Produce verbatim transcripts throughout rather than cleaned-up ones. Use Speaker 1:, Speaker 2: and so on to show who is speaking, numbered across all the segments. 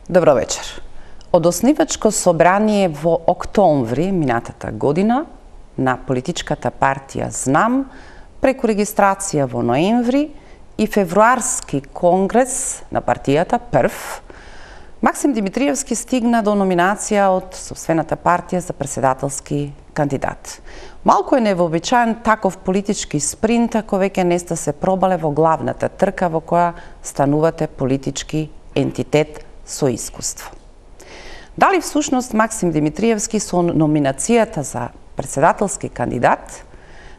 Speaker 1: Добро вечер. Од оснивачко собрание во октомври минатата година на политичката партија Знам, преку регистрација во ноември и февруарски конгрес на партијата прв, Максим Димитриевски стигна до номинација од сопствената партија за председателски кандидат. Малку е невообичаен таков политички спринт ако веќе не сте се пробале во главната трка во која станувате политички ентитет со искуство. Дали всушност Максим Димитриевски со номинацијата за председателски кандидат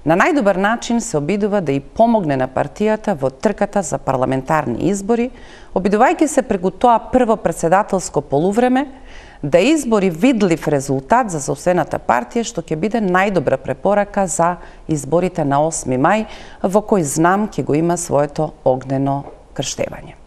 Speaker 1: на најдобар начин се обидува да и помогне на партијата во трката за парламентарни избори, обидувајќи се преку тоа прво председателско полувреме да избори видлив резултат за сопствената партија, што ќе биде најдобра препорака за изборите на осми мај, во кој Знам ќе го има своето огнено крштевање.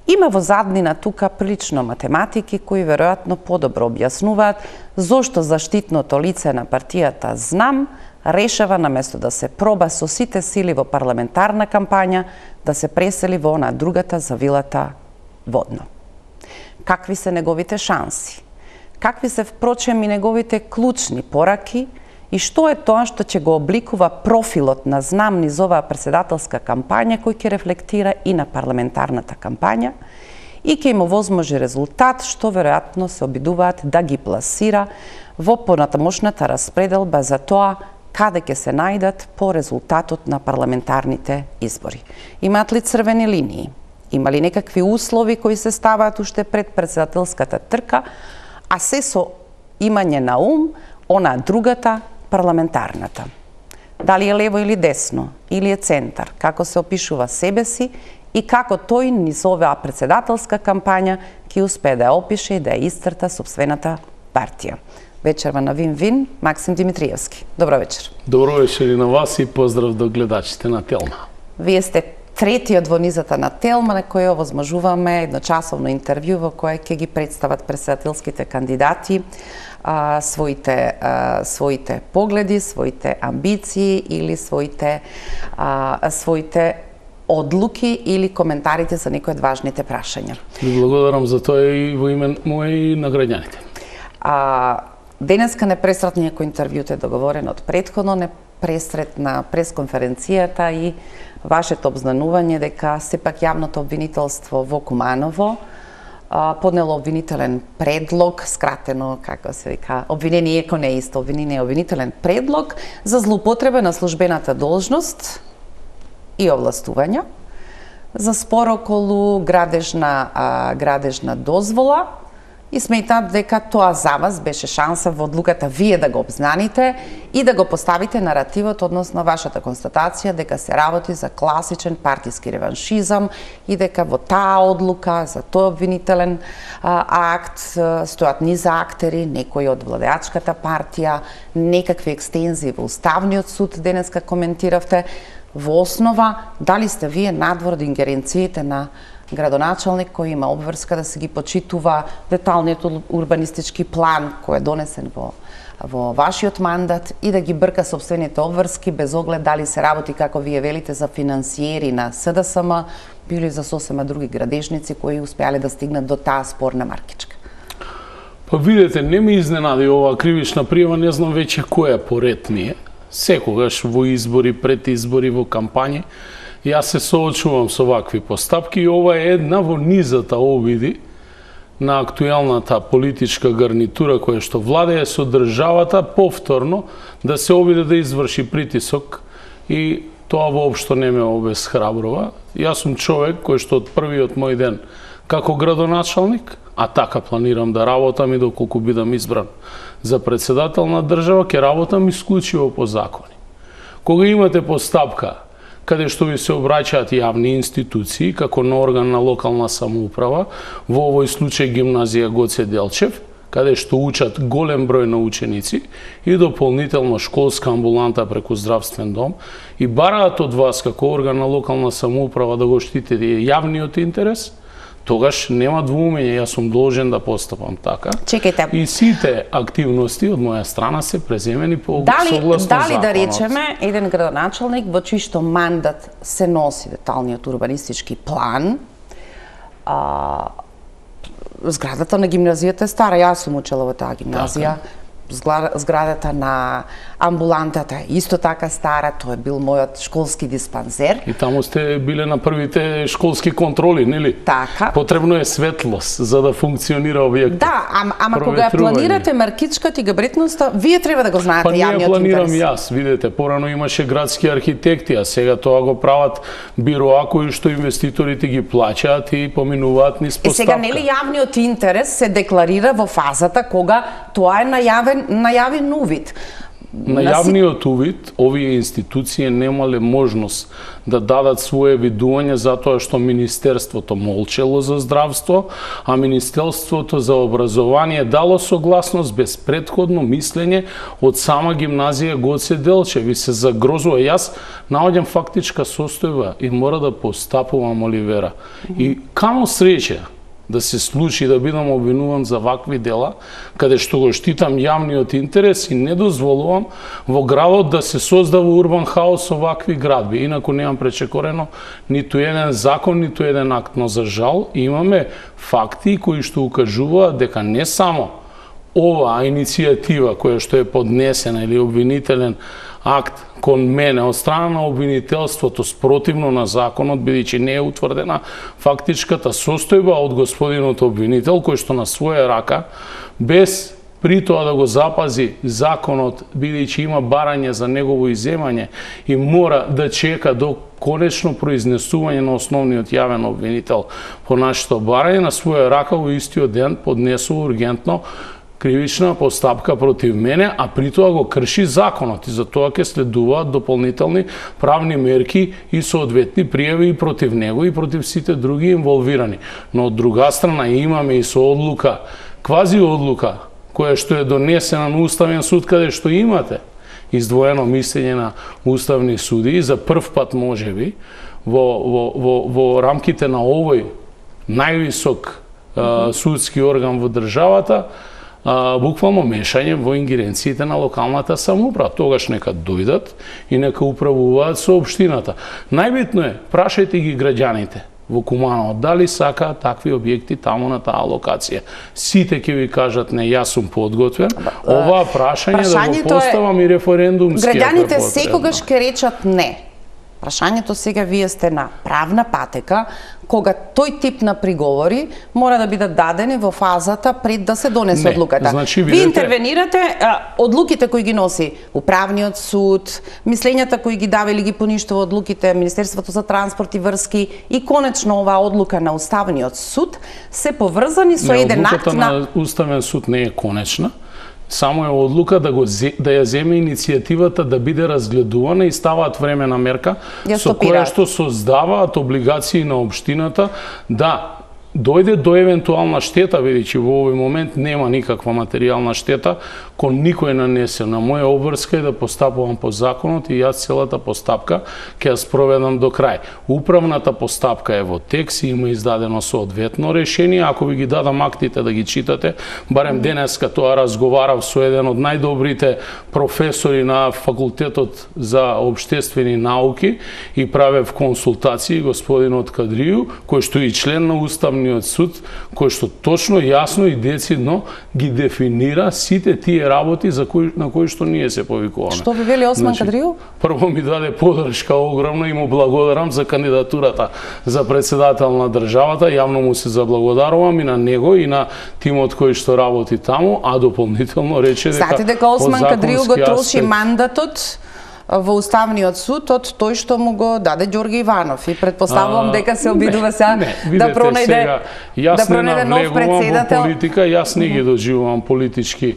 Speaker 1: Има во заднина тука прилично математики кои веројатно подобро објаснуваат зошто заштитното лице на партијата Знам решава наместо да се проба со сите сили во парламентарна кампања да се пресели во она другата завилата водно. Какви се неговите шанси? Какви се впрочем и неговите клучни пораки и што е тоа што ќе го обликува профилот на Знам низ оваа председателска кампања кој ќе рефлектира и на парламентарната кампања и ќе има возможи резултат што веројатно се обидуваат да ги пласира во понатамошната распределба за тоа каде ќе се најдат по резултатот на парламентарните избори. Имаат ли црвени линии? Има ли некакви услови кои се ставаат уште пред председателската трка, а се со имање на ум она другата парламентарната? Дали е лево или десно, или е центар, како се опишува себе си и како тој низ оваа председателска кампања ќе успее да ја опише и да ја исцрта сопствената партија. Вечерва на Вин-Вин, Максим Димитриевски. Добро вечер.
Speaker 2: Добро вечер и на вас и поздрав до гледачите на Телма.
Speaker 1: Вие сте третиот во низата на Телма, на кој овозможуваме едночасовно интервју во кое ќе ги представат председателските кандидати а, своите, а, своите погледи, своите амбиции или своите, а, своите одлуки или коментарите за некои од важните прашања.
Speaker 2: Ви благодарам за тоа и во име мој и на граѓаните.
Speaker 1: А, денеска не пресретна некој интервјуто е договорено од предходно, не пресретна пресконференцијата и вашето обзнанување дека сепак јавното обвинителство во Куманово а, поднело обвинителен предлог, скратено, како се вика, обвинение, иако не е исто, обвинение, обвинителен предлог за злоупотреба на службената должност и овластувања, за спор околу градежна, а, градежна дозвола, и сметаат дека тоа за вас беше шанса во одлуката вие да го обзнаните и да го поставите наративот, односно вашата констатација дека се работи за класичен партиски реваншизам и дека во таа одлука за тој обвинителен а, акт стојат низ актери, некои од владеачката партија, некакви екстензии во Уставниот суд, денеска коментиравте. Во основа, дали сте вие надвор од ингеренциите на градоначалник кој има обврска да се ги почитува деталниот урбанистички план кој е донесен во, во вашиот мандат и да ги брка сопствените обврски без оглед дали се работи, како вие велите, за финансиери на СДСМ или за сосема други градежници кои успеале да стигнат до таа спорна маркичка?
Speaker 2: Па видете, не ме изненади оваа кривична пријава, не знам веќе која поред ми е. Секогаш во избори, пред избори, во кампањи, јас се соочувам со вакви постапки и ова е една во низата обиди на актуелната политичка гарнитура која што владее со државата повторно да се обиде да изврши притисок и тоа воопшто не ме обесхрабрува. Јас сум човек кој што од првиот мој ден како градоначалник, а така планирам да работам и доколку бидам избран за председател на држава, ќе работам исклучиво по закони. Кога имате постапка каде што ви се обраќаат јавни институции, како на орган на локална самоуправа, во овој случај гимназија Гоце Делчев, каде што учат голем број на ученици и дополнително школска амбуланта преку здравствен дом и бараат од вас како орган на локална самоуправа да го штитите јавниот интерес, тогаш нема двумење, јас сум должен да постапам така.
Speaker 1: Чекајте.
Speaker 2: И сите активности од моја страна се преземени по
Speaker 1: дали,
Speaker 2: согласно
Speaker 1: дали
Speaker 2: законот.
Speaker 1: Да речеме, еден градоначалник во чиј што мандат се носи деталниот урбанистички план, а, Зградата на гимназијата е стара, јас сум учела во таа гимназија. Така. Зградата на амбулантата е исто така стара, тоа е бил мојот школски диспансер.
Speaker 2: И таму сте биле на првите школски контроли, нели?
Speaker 1: Така.
Speaker 2: Потребно е светлост за да функционира објектот.
Speaker 1: Да, ама, ама кога ја планирате маркичката и габаритноста, вие треба да го знаете
Speaker 2: па
Speaker 1: јавниот интерес.
Speaker 2: Па ние планирам јас, видете, порано имаше градски архитекти, а сега тоа го прават бироа кои што инвеститорите ги плаќаат и поминуваат низ поставка.
Speaker 1: Е сега нели јавниот интерес се декларира во фазата кога тоа е најавен најавен увид.
Speaker 2: На јавниот увид, овие институции немале можност да дадат свое видување затоа што Министерството молчело за здравство, а Министерството за образование дало согласност без претходно мислење од сама гимназија Гоце Делчев и се загрозува. Јас наоѓам фактичка состојба и мора да постапувам, Оливера. И камо среќа да се случи да бидам обвинуван за вакви дела, каде што го штитам јавниот интерес и не дозволувам во градот да се создава урбан хаос со вакви градби. Инаку немам пречекорено ниту еден закон, ниту еден акт, но за жал имаме факти кои што укажуваат дека не само оваа иницијатива која што е поднесена или обвинителен акт кон мене од страна на обвинителството спротивно на законот, бидејќи не е утврдена фактичката состојба од господинот обвинител, кој што на своја рака, без при тоа да го запази законот, бидејќи има барање за негово изземање и мора да чека до конечно произнесување на основниот јавен обвинител по нашето барање, на своја рака во истиот ден поднесува ургентно кривична постапка против мене, а при тоа го крши законот и за тоа ќе следуваат дополнителни правни мерки и соодветни пријави и против него и против сите други инволвирани. Но од друга страна имаме и со одлука, квази одлука, која што е донесена на Уставен суд, каде што имате издвоено мислење на уставни суди, за прв пат можеби во, во, во, во рамките на овој највисок uh, судски орган во државата, Uh, буквално мешање во ингеренциите на локалната самоуправа. Тогаш нека дојдат и нека управуваат со општината. Најбитно е, прашајте ги граѓаните во Куманово дали сакаат такви објекти таму на таа локација. Сите ќе ви кажат не, јас сум подготвен. Оваа прашање да го поставам и референдумски.
Speaker 1: Граѓаните секогаш ќе речат не. Прашањето сега вие сте на правна патека, кога тој тип на приговори мора да бидат дадени во фазата пред да се донесе одлуката.
Speaker 2: Значи,
Speaker 1: видете... Вие интервенирате, а, одлуките кои ги носи Управниот суд, мислењата кои ги дава или ги поништува одлуките Министерството за транспорт и врски и конечно оваа одлука на Уставниот суд се поврзани со
Speaker 2: не,
Speaker 1: еден акт на...
Speaker 2: на Уставен суд не е конечна. Само е одлука да го да ја земе иницијативата да биде разгледувана и ставаат времена мерка со која што создаваат облигации на општината да дојде до евентуална штета, бидејќи во овој момент нема никаква материјална штета кон никој нанесена. Моја обврска е да постапувам по законот и јас целата постапка ќе ја спроведам до крај. Управната постапка е во текст и има издадено соодветно решение. Ако ви ги дадам актите да ги читате, барем денеска тоа разговарав со еден од најдобрите професори на факултетот за општествени науки и правев консултации, господинот Кадрију, кој што е член на Уставниот суд, кој што точно, јасно и децидно ги дефинира сите тие работи за кои, на кои што ние се повикуваме.
Speaker 1: Што ви вели Осман значи, Кадрију?
Speaker 2: Прво ми даде подршка огромна и му благодарам за кандидатурата за председател на државата. Јавно му се заблагодарувам и на него и на тимот кој што работи таму, а дополнително рече дека...
Speaker 1: Знаете дека Осман Кадрију го троши мандатот во Уставниот суд од тој што му го даде Ѓорги Иванов и предпоставувам дека се обидува сега да пронајде да пронајде нов председател.
Speaker 2: Во политика, јас не ги доживувам политички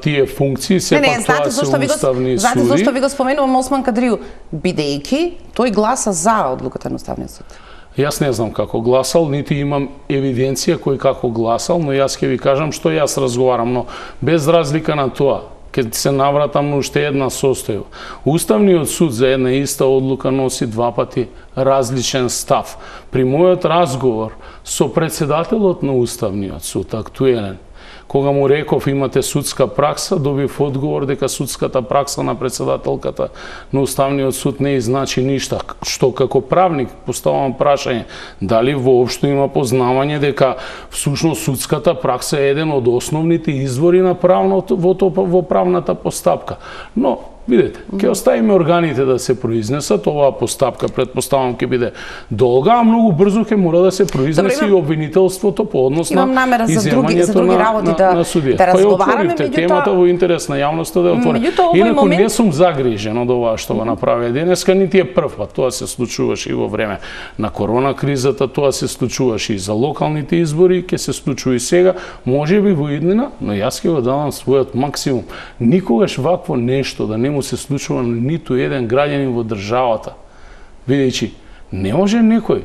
Speaker 2: тие функции, сепак
Speaker 1: не, не,
Speaker 2: тоа се уставни суди.
Speaker 1: Знаете зашто ви го споменувам Осман Кадрију? Бидејќи тој гласа за одлуката на Уставниот суд.
Speaker 2: Јас не знам како гласал, нити имам евиденција кој како гласал, но јас ќе ви кажам што јас разговарам, но без разлика на тоа, ќе се навратам на уште една состојба. Уставниот суд за една иста одлука носи два пати различен став. При мојот разговор со председателот на Уставниот суд, актуелен, Кога му реков имате судска пракса, добив одговор дека судската пракса на председателката на Уставниот суд не значи ништа. Што како правник поставам прашање, дали воопшто има познавање дека всушност судската пракса е еден од основните извори на правното во, во правната постапка. Но видете, ќе оставиме органите да се произнесат, оваа постапка предпоставам ќе биде долга, а многу брзо ќе мора да се произнесе Добре, имам... и обвинителството по однос на изземањето на, на,
Speaker 1: да,
Speaker 2: на судија.
Speaker 1: Да
Speaker 2: па ја отворивте темата во интерес на јавноста да ја отворим. Инаку момент... не сум загрижен од ова што го направи денеска, нити е прв пат. Тоа се случуваше и во време на корона кризата, тоа се случуваше и за локалните избори, ќе се случува и сега, можеби во иднина, но јас ќе го давам својот максимум. Никогаш вакво нешто да не му се случува на ниту еден граѓанин во државата. Видејќи, не може некој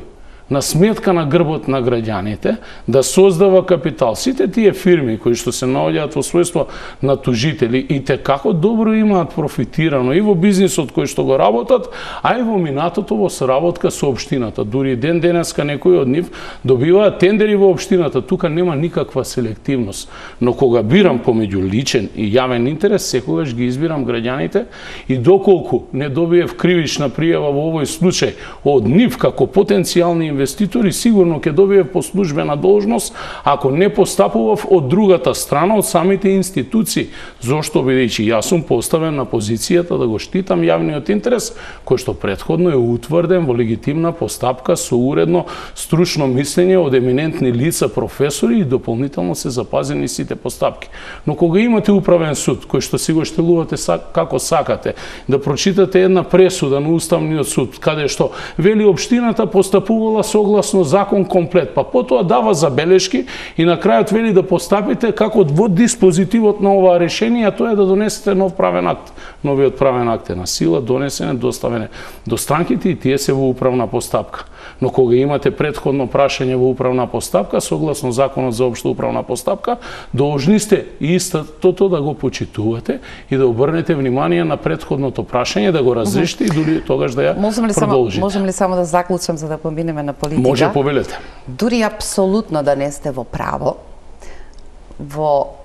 Speaker 2: на сметка на грбот на граѓаните да создава капитал. Сите тие фирми кои што се наоѓаат во својство на тужители и те како добро имаат профитирано и во бизнисот кој што го работат, а и во минатото во соработка со општината. Дури ден денеска некои од нив добиваат тендери во општината. Тука нема никаква селективност. Но кога бирам помеѓу личен и јавен интерес, секогаш ги избирам граѓаните и доколку не добиев кривична пријава во овој случај од нив како потенцијални инвеститори, сигурно ќе добие по службена должност ако не постапував од другата страна, од самите институции. Зошто, бидејќи јас сум поставен на позицијата да го штитам јавниот интерес, кој што претходно е утврден во легитимна постапка со уредно стручно мислење од еминентни лица, професори и дополнително се запазени сите постапки. Но кога имате управен суд, кој што си го штелувате како сакате, да прочитате една пресуда на Уставниот суд, каде што вели општината постапувала согласно закон комплет, па потоа дава забелешки и на крајот вели да постапите како во диспозитивот на оваа решение, а тоа е да донесете нов правен акт. Новиот правен акт е на сила, донесен, доставен до странките и тие се во управна постапка. Но кога имате претходно прашање во управна постапка, согласно законот за општа управна постапка, должни сте истото да го почитувате и да обрнете внимание на претходното прашање, да го разрешите и дури тогаш да ја
Speaker 1: можем ли
Speaker 2: продолжите.
Speaker 1: Само, можем ли само да заклучам за да поминеме на политика?
Speaker 2: Може, повелете.
Speaker 1: Дури апсолутно да не сте во право, во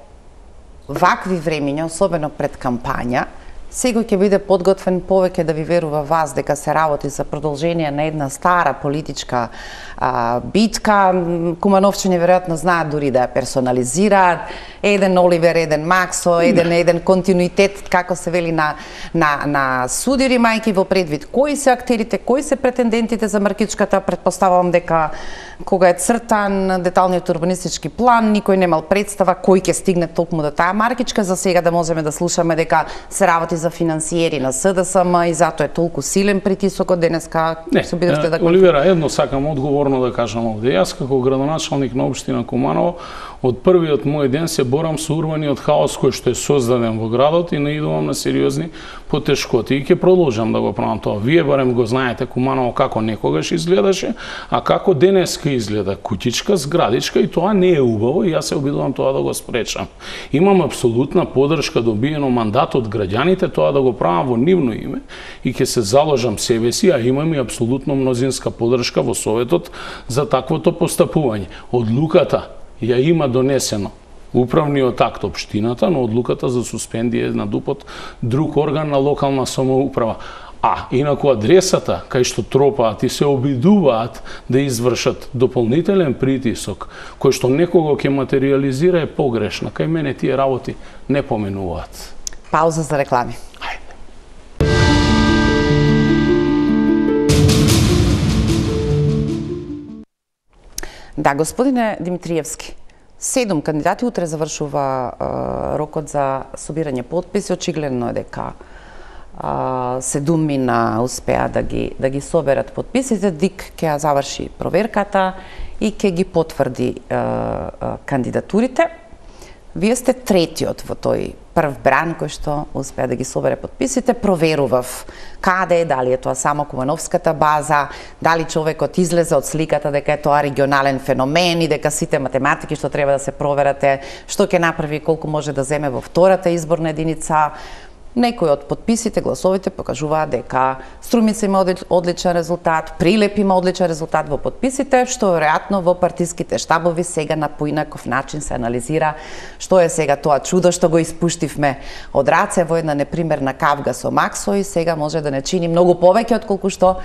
Speaker 1: вакви времиња, особено пред кампања, секој ќе биде подготвен повеќе да ви верува вас дека се работи за продолжение на една стара политичка а, битка. Кумановчиња веројатно знаат дури да ја персонализираат. Еден Оливер, еден Максо, еден еден континуитет, како се вели на, на, на судири, мајки во предвид. Кои се актерите, кои се претендентите за маркичката, предпоставувам дека кога е цртан деталниот урбанистички план, никој немал представа кој ќе стигне толкому до таа маркичка. За сега да можеме да слушаме дека се работи за финансиери на СДСМ и затоа е толку силен притисокот денеска.
Speaker 2: Не, се обидовте да Оливера, едно сакам одговорно да кажам овде. Јас како градоначалник на општина Куманово од првиот мој ден се борам со урбаниот хаос кој што е создаден во градот и наидувам на сериозни потешкоти и ќе продолжам да го правам тоа. Вие барем го знаете Куманово како некогаш изгледаше, а како денеска изгледа куќичка, зградичка и тоа не е убаво и јас се обидувам тоа да го спречам. Имам апсолутна поддршка добиено мандат од граѓаните тоа да го правам во нивно име и ќе се заложам себе си, а имам и апсолутно мнозинска поддршка во Советот за таквото постапување. Одлуката ја има донесено управниот акт општината, но одлуката за суспендија на ДУП-от друг орган на локална самоуправа. А инаку адресата кај што тропаат и се обидуваат да извршат дополнителен притисок, кој што некого ќе материализира е погрешна. Кај мене тие работи не поменуваат.
Speaker 1: Пауза за реклами. Да, господине Димитриевски, седум кандидати, утре завршува е, рокот за собирање потписи, очигледно е дека е, седумина успеа да ги да ги соберат потписите, ДИК ќе ја заврши проверката и ќе ги потврди е, е, кандидатурите. Вие сте третиот во тој прв бран кој што успеа да ги собере потписите. Проверував каде е, дали е тоа само Кумановската база, дали човекот излезе од сликата дека е тоа регионален феномен и дека сите математики што треба да се проверате, што ќе направи, колку може да земе во втората изборна единица. Некои од подписите, гласовите покажуваат дека Струмица има одличен резултат, Прилеп има одличен резултат во подписите, што веројатно во партиските штабови сега на поинаков начин се анализира што е сега тоа чудо што го испуштивме од раце во една непримерна кавга со Максо и сега може да не чини многу повеќе отколку што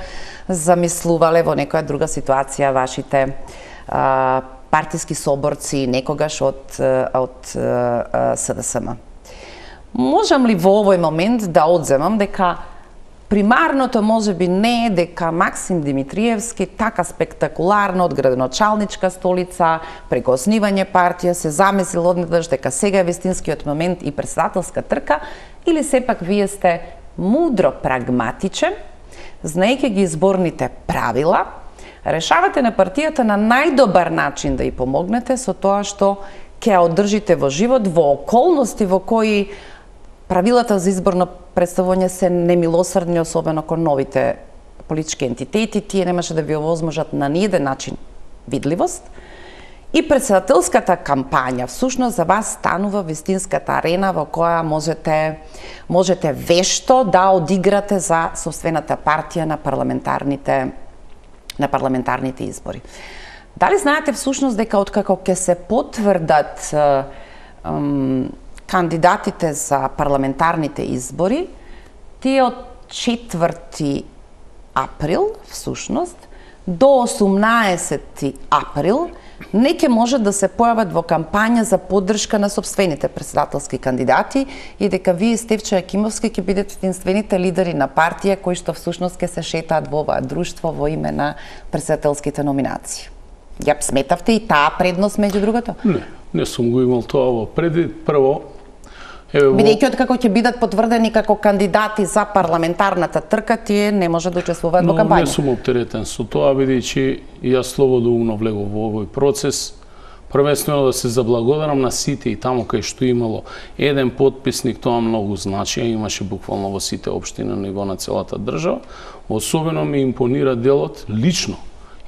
Speaker 1: замислувале во некоја друга ситуација вашите а, партиски соборци некогаш од од СДСМ. Можам ли во овој момент да одземам дека примарното можеби не е дека Максим Димитриевски така спектакуларно од градоначалничка столица преку основање партија се замислил однеднаш дека сега е вистинскиот момент и председателска трка, или сепак вие сте мудро прагматичен, знаејќи ги изборните правила, решавате на партијата на најдобар начин да ја помогнете со тоа што ќе ја одржите во живот во околности во кои правилата за изборно представување се немилосрдни, особено кон новите политички ентитети, тие немаше да ви овозможат на ниеден начин видливост. И председателската кампања всушност за вас станува вистинската арена во која можете можете вешто да одиграте за сопствената партија на парламентарните на парламентарните избори. Дали знаете всушност дека откако ќе се потврдат ем, кандидатите за парламентарните избори, тие од четврти април, всушност, до осумнаесети април, не ќе може да се појават во кампања за поддршка на сопствените председателски кандидати и дека вие, Стефчо Јакимовски, ќе бидете единствените лидери на партија кои што всушност ќе се шетаат во оваа друштво во име на председателските номинации. Ја сметавте и таа предност меѓу другото?
Speaker 2: Не, не сум го имал тоа во предвид. Прво, Во...
Speaker 1: Бидејќи откако ќе бидат потврдени како кандидати за парламентарната трка, тие не може да учествуваат во кампања.
Speaker 2: Но не сум оптеретен со тоа, бидејќи јас слободоумно влегов во овој процес. Првенствено да се заблагодарам на сите и таму кај што имало еден подписник, тоа многу значи, имаше буквално во сите општини на ниво на целата држава. Особено ми импонира делот лично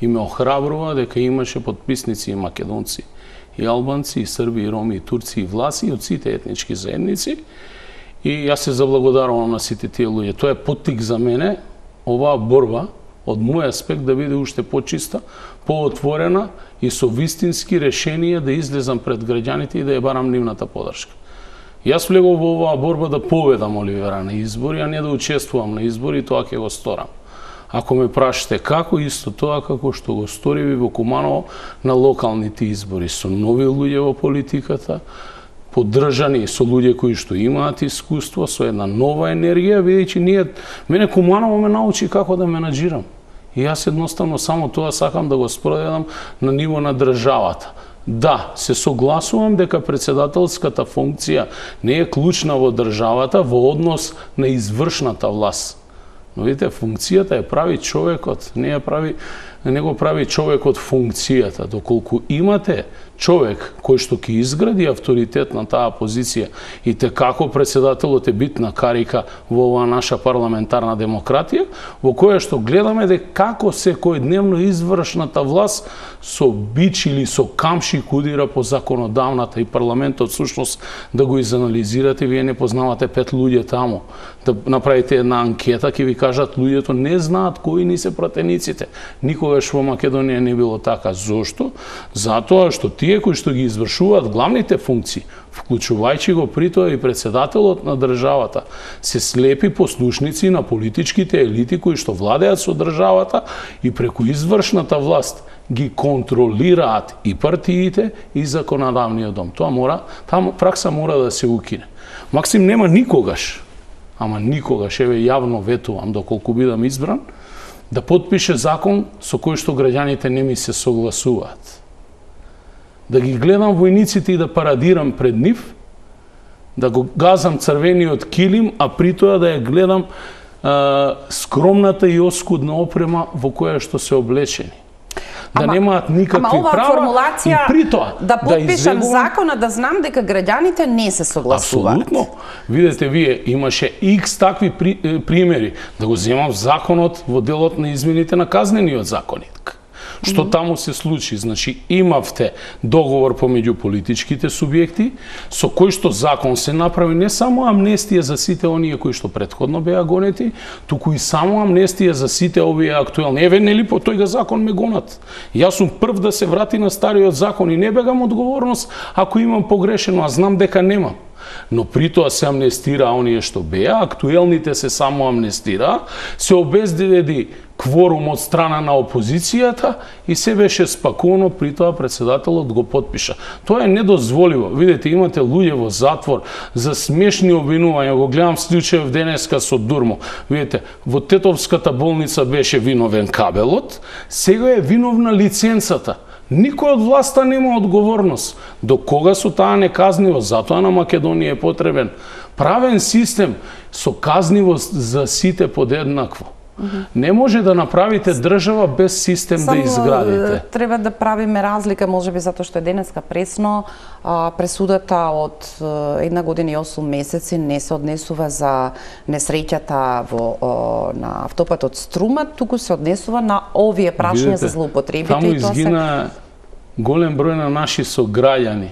Speaker 2: и ме охрабрува дека имаше подписници и македонци, и албанци, и срби, и роми, и турци, и власи, и од сите етнички заедници. И јас се заблагодарувам на сите тие луѓе. Тоа е поттик за мене, оваа борба, од мој аспект, да биде уште почиста, поотворена и со вистински решенија да излезам пред граѓаните и да ја барам нивната поддршка. Јас влегов во оваа борба да победам Оливера на избори, а не да учествувам на избори, и тоа ќе го сторам. Ако ме прашате како, исто тоа како што го сториви во Куманово на локалните избори, со нови луѓе во политиката, поддржани со луѓе кои што имаат искуство, со една нова енергија, бидејќи ние, мене Куманово ме научи како да менаџирам. И јас едноставно само тоа сакам да го спроведам на ниво на државата. Да, се согласувам дека председателската функција не е клучна во државата во однос на извршната власт. Но видите, функцијата ја прави човекот, не ја прави, не го прави човекот функцијата. Доколку имате човек кој што ќе изгради авторитет на таа позиција и те како председателот е битна карика во оваа наша парламентарна демократија, во која што гледаме дека како секојдневно извршната власт со бич или со камши кудира по законодавната и парламентот всушност да го изанализирате, вие не познавате пет луѓе таму. Да направите една анкета, ќе ви кажат луѓето не знаат кои ни се пратениците. Никогаш во Македонија не било така. Зошто? Затоа што тие кои што ги извршуваат главните функции, вклучувајќи го при тоа и председателот на државата, се слепи послушници на политичките елити кои што владеат со државата и преку извршната власт ги контролираат и партиите и законодавниот дом. Тоа мора, таа пракса мора да се укине. Максим нема никогаш, ама никогаш, еве јавно ветувам доколку бидам избран, да потпише закон со кој што граѓаните не ми се согласуваат. Да ги гледам војниците и да парадирам пред нив, да го газам црвениот килим, а при тоа да ја гледам а, скромната и оскудна опрема во која што се облечени. Да ама, немаат никакви права и при тоа
Speaker 1: да потпишам
Speaker 2: да иззегувам...
Speaker 1: закона, да знам дека граѓаните не се согласуваат.
Speaker 2: Апсолутно. Видете, вие имаше икс такви при, примери. Да го земам законот во делот на измените на казнениот законник. Што mm -hmm. таму се случи? Значи, имавте договор помеѓу политичките субјекти, со кој што закон се направи не само амнестија за сите оние кои што претходно беа гонети, туку и само амнестија за сите овие актуелни. Еве, нели по тој закон ме гонат. Јас сум прв да се врати на стариот закон и не бегам одговорност ако имам погрешено, а знам дека немам. Но при тоа се амнестира оние што беа, актуелните се само амнестира, се обезбеди кворум од страна на опозицијата и се беше спакувано, при тоа председателот го потпиша. Тоа е недозволиво. Видете, имате луѓе во затвор за смешни обвинувања. Го гледам случајов денеска со Дурмо. Видите, во Тетовската болница беше виновен кабелот, сега е виновна лиценцата. Никој од власта нема одговорност. До кога со таа неказнивост? Затоа на Македонија е потребен правен систем со казнивост за сите подеднакво. Mm-hmm. Не може да направите држава без систем Само да изградите.
Speaker 1: Треба да правиме разлика, можеби затоа што е денеска пресно, а, пресудата од една година и осум месеци не се однесува за несреќата во о, на автопатот Струма, туку се однесува на овие прашања за злоупотребите.
Speaker 2: Таму изгина се... голем број на наши сограѓани.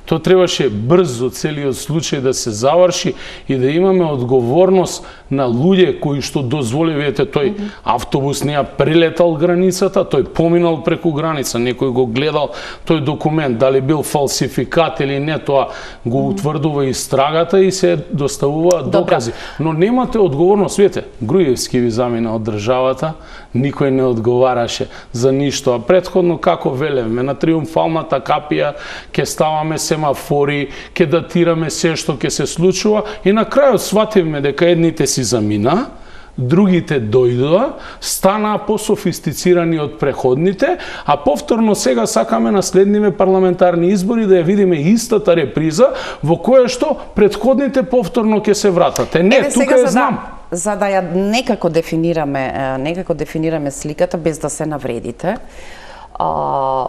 Speaker 2: То требаше брзо целиот случај да се заврши и да имаме одговорност на луѓе кои што дозволи, видите, тој автобус не ја прелетал границата, тој поминал преку граница, некој го гледал тој документ, дали бил фалсификат или не, тоа го утврдува истрагата и се доставуваат докази. Но немате одговорност, видите, Груевски ви замина од државата, никој не одговараше за ништо, а претходно како велевме, на Триумфалната капија ќе ставаме семафори, ќе датираме се што ќе се случува и на крајот свативме дека едните си замина, другите дојдоа, станаа пософистицирани од преходните, а повторно сега сакаме на следниве парламентарни избори да ја видиме истата реприза во која што предходните повторно ќе се вратат. Не,
Speaker 1: Еве,
Speaker 2: тука ја знам.
Speaker 1: Да, за да ја некако дефинираме, некако дефинираме сликата без да се навредите. А,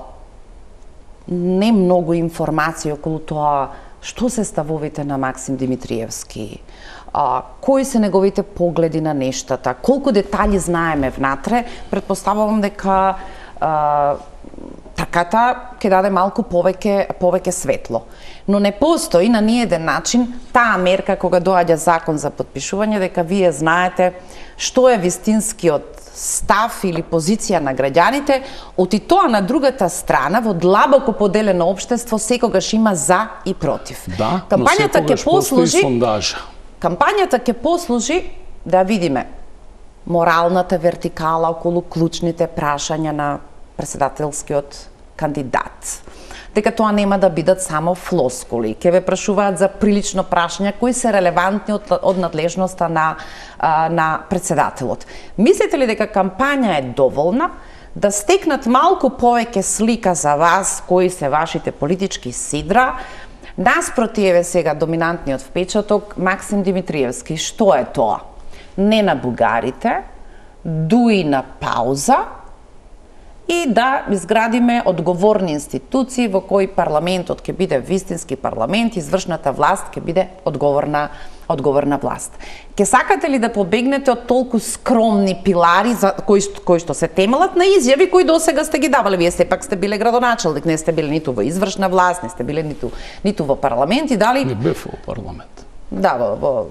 Speaker 1: не многу информации околу тоа што се ставовите на Максим Димитриевски, а, кои се неговите погледи на нештата, колку детали знаеме внатре, предпоставувам дека а, трката ќе даде малку повеќе повеќе светло. Но не постои на ниеден начин таа мерка кога доаѓа закон за потпишување дека вие знаете што е вистинскиот став или позиција на граѓаните, оти тоа на другата страна во длабоко поделено општество секогаш има за и против.
Speaker 2: Да,
Speaker 1: кампањата
Speaker 2: но секогаш постои сондажа.
Speaker 1: Кампањата ќе послужи да видиме моралната вертикала околу клучните прашања на председателскиот кандидат. Дека тоа нема да бидат само флоскули. Ке ве прашуваат за прилично прашања кои се релевантни од, од надлежноста на, а, на председателот. Мислите ли дека кампања е доволна да стекнат малку повеќе слика за вас, кои се вашите политички сидра, наспроти еве сега доминантниот впечаток Максим Димитриевски? Што е тоа? Не на бугарите, дуи на пауза, и да изградиме одговорни институции во кои парламентот ќе биде вистински парламент, извршната власт ќе биде одговорна одговорна власт. Ке сакате ли да побегнете од толку скромни пилари за кои кои што се темелат на изјави кои досега сте ги давале? Вие сепак сте биле градоначелник, не сте биле ниту во извршна власт, не сте биле ниту ниту во парламент и дали
Speaker 2: Не бев во парламент.
Speaker 1: Да, во, во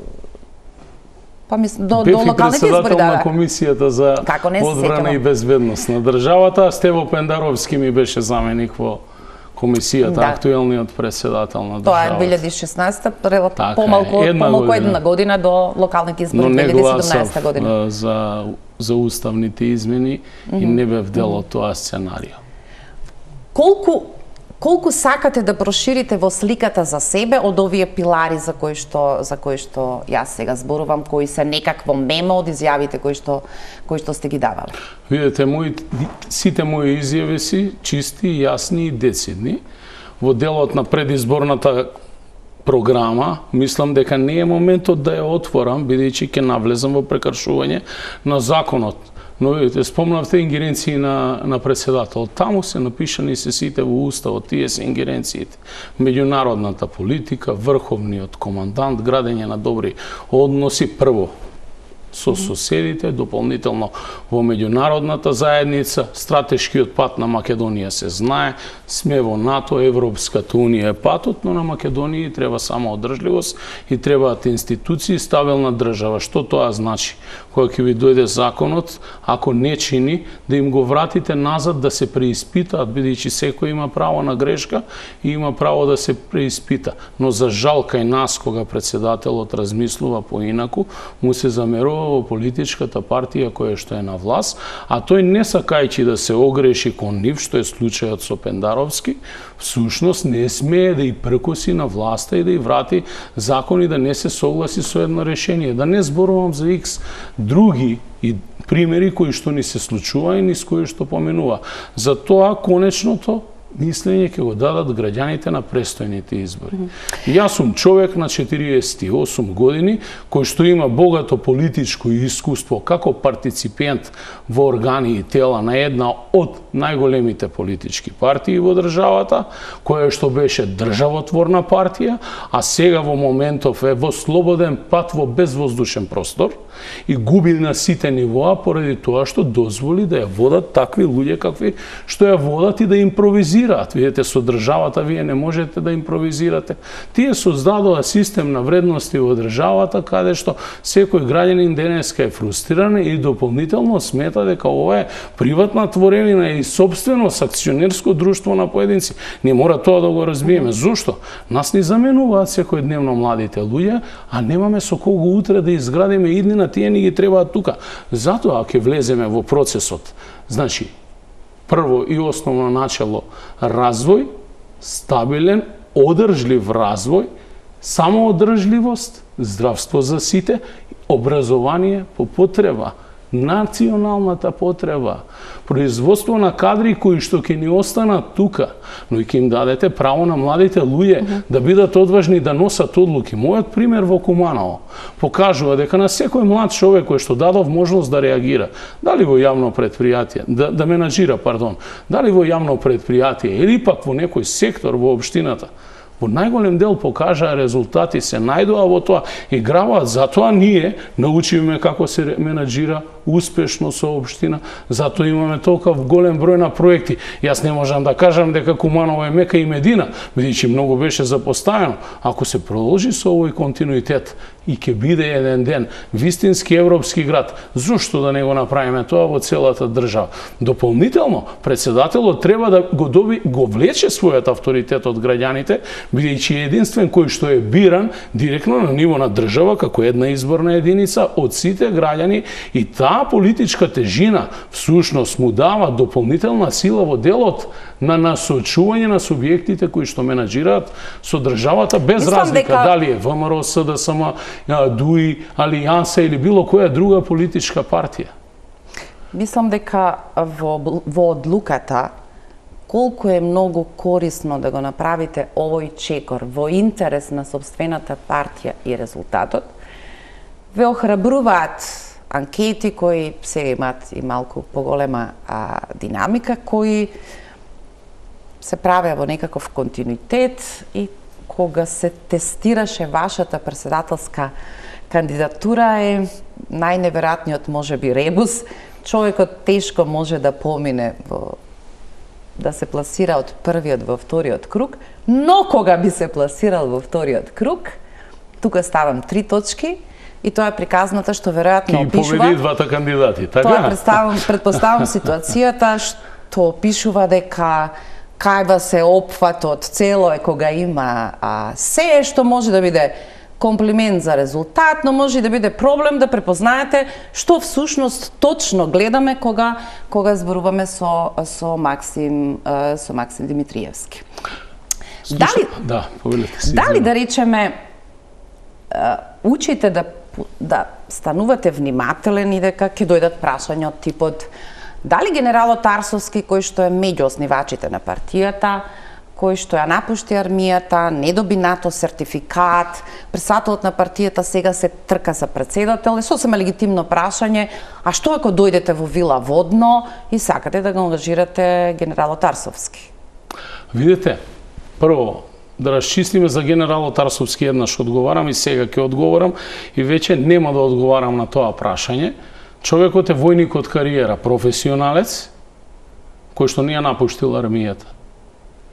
Speaker 1: Па мислам до,
Speaker 2: Бев
Speaker 1: до локалните избори, да,
Speaker 2: на комисијата за одбрана и безбедност на државата, а Стево Пендаровски ми беше заменик во комисијата, да. Актуелниот председател на државата.
Speaker 1: Тоа е две илјади и шеснаесета, помалку
Speaker 2: една
Speaker 1: помалку
Speaker 2: година.
Speaker 1: една година до локалните избори две илјади и седумнаесета година.
Speaker 2: Но не гласав за за уставните измени mm -hmm. и не бев дел од тоа сценарио.
Speaker 1: Колку Колку сакате да проширите во сликата за себе од овие пилари за кои што за кои што јас сега зборувам, кои се некакво мемо од изјавите кои што кои што сте ги давале?
Speaker 2: Видете, мои сите мои изјави си чисти, јасни и децидни. Во делот на предизборната програма, мислам дека не е моментот да ја отворам, бидејќи ќе навлезам во прекршување на законот. Но видите, спомнавте ингеренции на, на председател. Таму се напишани се сите во уставот, тие се ингеренциите. Меѓународната политика, врховниот командант, градење на добри односи прво. со соседите, дополнително во меѓународната заедница. Стратешкиот пат на Македонија се знае, сме во НАТО, Европската унија е патот, но на Македонија треба само одржливост и требаат институции, стабилна држава. Што тоа значи? Кога ќе ви дојде законот, ако не чини, да им го вратите назад, да се преиспитаат, бидејќи секој има право на грешка и има право да се преиспита. Но за жал кај нас, кога председателот размислува поинаку, му се замерува во политичката партија која што е на власт, а тој не сакајќи да се огреши кон нив, што е случајот со Пендаровски, всушност не смее да и пркоси на власта и да и врати закони, да не се согласи со едно решение. Да не зборувам за икс други и примери кои што ни се случува и низ кои што поменува. За тоа конечното мислење ќе го дадат граѓаните на престојните избори. Mm -hmm. Јас сум човек на четириесет и осум години, кој што има богато политичко искуство како партиципент во органи и тела на една од најголемите политички партии во државата, која што беше државотворна партија, а сега во моментов е во слободен пат во безвоздушен простор и губи на сите нивоа поради тоа што дозволи да ја водат такви луѓе какви што ја водат и да импровизираат. Видете, со државата вие не можете да импровизирате. Тие создадоа систем на вредности во државата, каде што секој граѓанин денеска е фрустриран и дополнително смета дека ова е приватна творевина и собственост, акционерско друштво на поединци. Не мора тоа да го разбиеме. Зошто? Нас ни заменуваат секојдневно младите луѓе, а немаме со кого утре да изградиме иднина, тие ни ги требаат тука. Затоа ќе влеземе во процесот. Значи, прво и основно начало развој, стабилен, одржлив развој, самоодржливост, здравство за сите, образование по потреба, националната потреба, производство на кадри кои што ќе ни останат тука, но и ќе им дадете право на младите луѓе mm -hmm. да бидат одважни да носат одлуки. Мојот пример во Куманово покажува дека на секој млад човек кој што дадов можност да реагира, дали во јавно предпријатие, да, да менаџира, пардон, дали во јавно предпријатие или пак во некој сектор во општината, во најголем дел покажаа резултати, се најдоа во тоа и граваат. Затоа ние научиме како се менаџира успешно со општина, затоа имаме толков голем број на проекти. Јас не можам да кажам дека Куманово е Мека и Медина, бидејќи многу беше запоставено. Ако се продолжи со овој континуитет и ќе биде еден ден вистински европски град, зошто да не го направиме тоа во целата држава? Дополнително, председателот треба да го доби, го влече својот авторитет од граѓаните, бидејќи е единствен кој што е биран директно на ниво на држава како една изборна единица од сите граѓани, и таа политичка тежина всушност му дава дополнителна сила во делот на насочување на субјектите кои што менаџираат со државата, без Мислам разлика дека... дали е ВМРО, СДСМ, ДУИ, Алијанса или било која друга политичка партија.
Speaker 1: Мислам дека во, во одлуката колку е многу корисно да го направите овој чекор во интерес на сопствената партија и резултатот, ве охрабруваат анкети кои сега имаат и малку поголема а, динамика, кои се правеа во некаков континуитет, и кога се тестираше вашата председателска кандидатура е најневеројатниот можеби ребус. Човекот тешко може да помине во да се пласира од првиот во вториот круг, но кога би се пласирал во вториот круг, тука ставам три точки, и тоа е приказната што веројатно опишува...
Speaker 2: Ки победи двата кандидати, така?
Speaker 1: Тоа представам, предпоставам ситуацијата што опишува дека кајва се опфатот цело е кога има а, се што може да биде комплимент за резултат, но може и да биде проблем да препознаете што всушност точно гледаме кога кога зборуваме со со Максим со Максим Димитриевски.
Speaker 2: Слушам,
Speaker 1: дали
Speaker 2: да, повелете си.
Speaker 1: Дали да речеме учите да да станувате внимателен и дека ќе дојдат прашања од типот дали генералот Арсовски, кој што е меѓу основачите на партијата, кој што ја напушти армијата, не доби НАТО сертификат, председателот на партијата сега се трка за председател, е сосема легитимно прашање, а што ако дојдете во Вила Водно и сакате да го ангажирате генералот Арсовски?
Speaker 2: Видете, прво, да расчистиме за генералот Арсовски, еднаш одговарам и сега ќе одговорам и веќе нема да одговарам на тоа прашање. Човекот е војник од кариера, професионалец, кој што не ја напуштил армијата,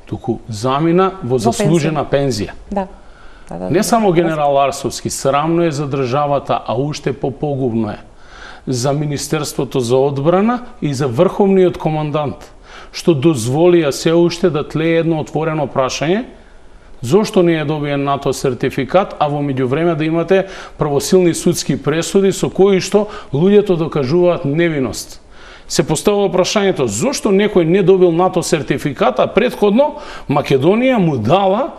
Speaker 2: туку замина во заслужена пензија.
Speaker 1: Да. Да, да,
Speaker 2: не само генерал Арсовски, срамно е за државата, а уште попогубно е за Министерството за одбрана и за Врховниот командант, што дозволија се уште да тлее едно отворено прашање, зошто не е добиен НАТО сертификат, а во меѓувреме да имате правосилни судски пресуди со кои што луѓето докажуваат невиност. Се поставува прашањето зошто некој не добил НАТО сертификат, а претходно Македонија му дала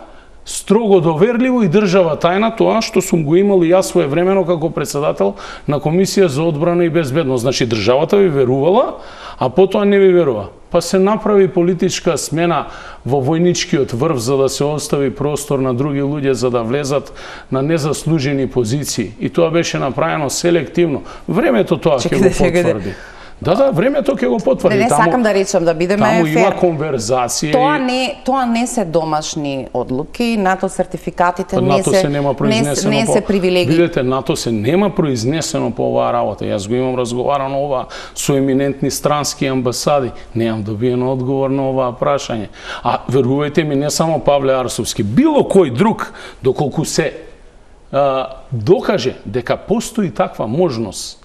Speaker 2: строго доверливо и држава тајна тоа што сум го имал и јас своевремено како председател на Комисија за одбрана и безбедност. Значи државата ви верувала, а потоа не ви верува. Па се направи политичка смена во војничкиот врв за да се остави простор на други луѓе за да влезат на незаслужени позиции. И тоа беше направено селективно. Времето тоа ќе го потврди. Да, да, времето ќе го потврди.
Speaker 1: Не, не таму, сакам да речам да бидеме
Speaker 2: таму
Speaker 1: фер.
Speaker 2: Има конверзација.
Speaker 1: Тоа не, тоа не се домашни одлуки, НАТО сертификатите
Speaker 2: па,
Speaker 1: не
Speaker 2: НАТО
Speaker 1: се,
Speaker 2: се нема произнесено
Speaker 1: не, не
Speaker 2: по,
Speaker 1: се привилегии.
Speaker 2: Видете, НАТО се нема произнесено по оваа работа. Јас го имам разговарано ова со еминентни странски амбасади. Немам добиен одговор на оваа прашање. А верувајте ми, не само Павле Арсовски, било кој друг, доколку се а, докаже дека постои таква можност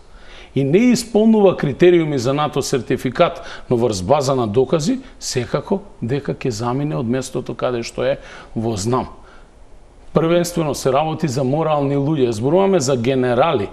Speaker 2: и не исполнува критериуми за НАТО сертификат, но врз база на докази, секако дека ќе замине од местото каде што е во знам. Првенствено се работи за морални луѓе, зборуваме за генерали,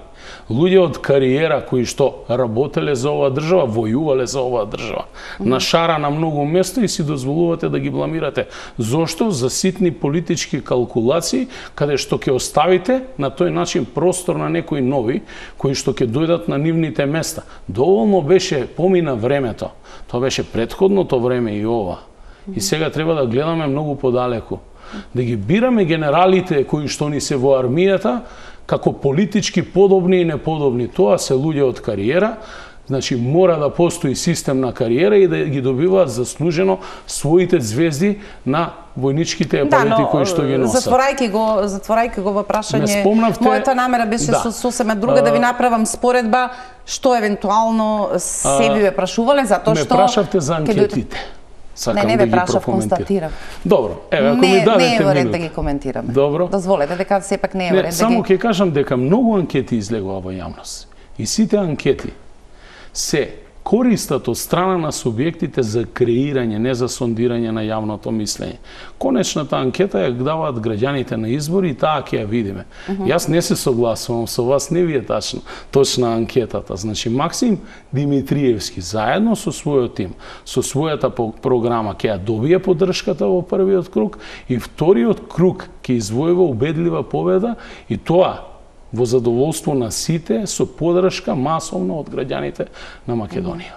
Speaker 2: луѓе од кариера кои што работеле за оваа држава, војувале за оваа држава. На шара на многу место и си дозволувате да ги бламирате. Зошто? За ситни политички калкулации, каде што ќе оставите на тој начин простор на некои нови, кои што ќе дојдат на нивните места. Доволно беше, помина времето. Тоа беше претходното време и ова. И сега треба да гледаме многу подалеку. Да ги бираме генералите кои што ни се во армијата како политички подобни и неподобни. Тоа се луѓе од кариера, значи мора да постои систем на кариера и да ги добиваат заслужено своите звезди на војничките епалети да, кои што ги носат.
Speaker 1: Затворајќи го, затворајќи го во прашање,
Speaker 2: спомнавте...
Speaker 1: мојата намера беше да. сосема друга, да ви направам споредба што евентуално се би ме прашувале, затоа што...
Speaker 2: Ме прашавте за анкетите. Сакам
Speaker 1: не, не
Speaker 2: да
Speaker 1: ве прашав, констатирам.
Speaker 2: Добро, еве, ако
Speaker 1: не,
Speaker 2: ми дадете
Speaker 1: не е во ред
Speaker 2: минут.
Speaker 1: да ги коментираме.
Speaker 2: Добро.
Speaker 1: Дозволете дека сепак не е во ред да ги...
Speaker 2: Само ќе кажам дека многу анкети излегува во јавност. И сите анкети се користат од страна на субјектите за креирање, не за сондирање на јавното мислење. Конечната анкета ја даваат граѓаните на избори и таа ќе ја видиме. Uh -huh. Јас не се согласувам со вас, не ви е тачно, точна анкетата. Значи, Максим Димитриевски, заедно со својот тим, со својата програма, ќе ја добие поддршката во првиот круг и вториот круг ќе извојува убедлива победа и тоа во задоволство на сите со поддршка масовно од граѓаните на Македонија.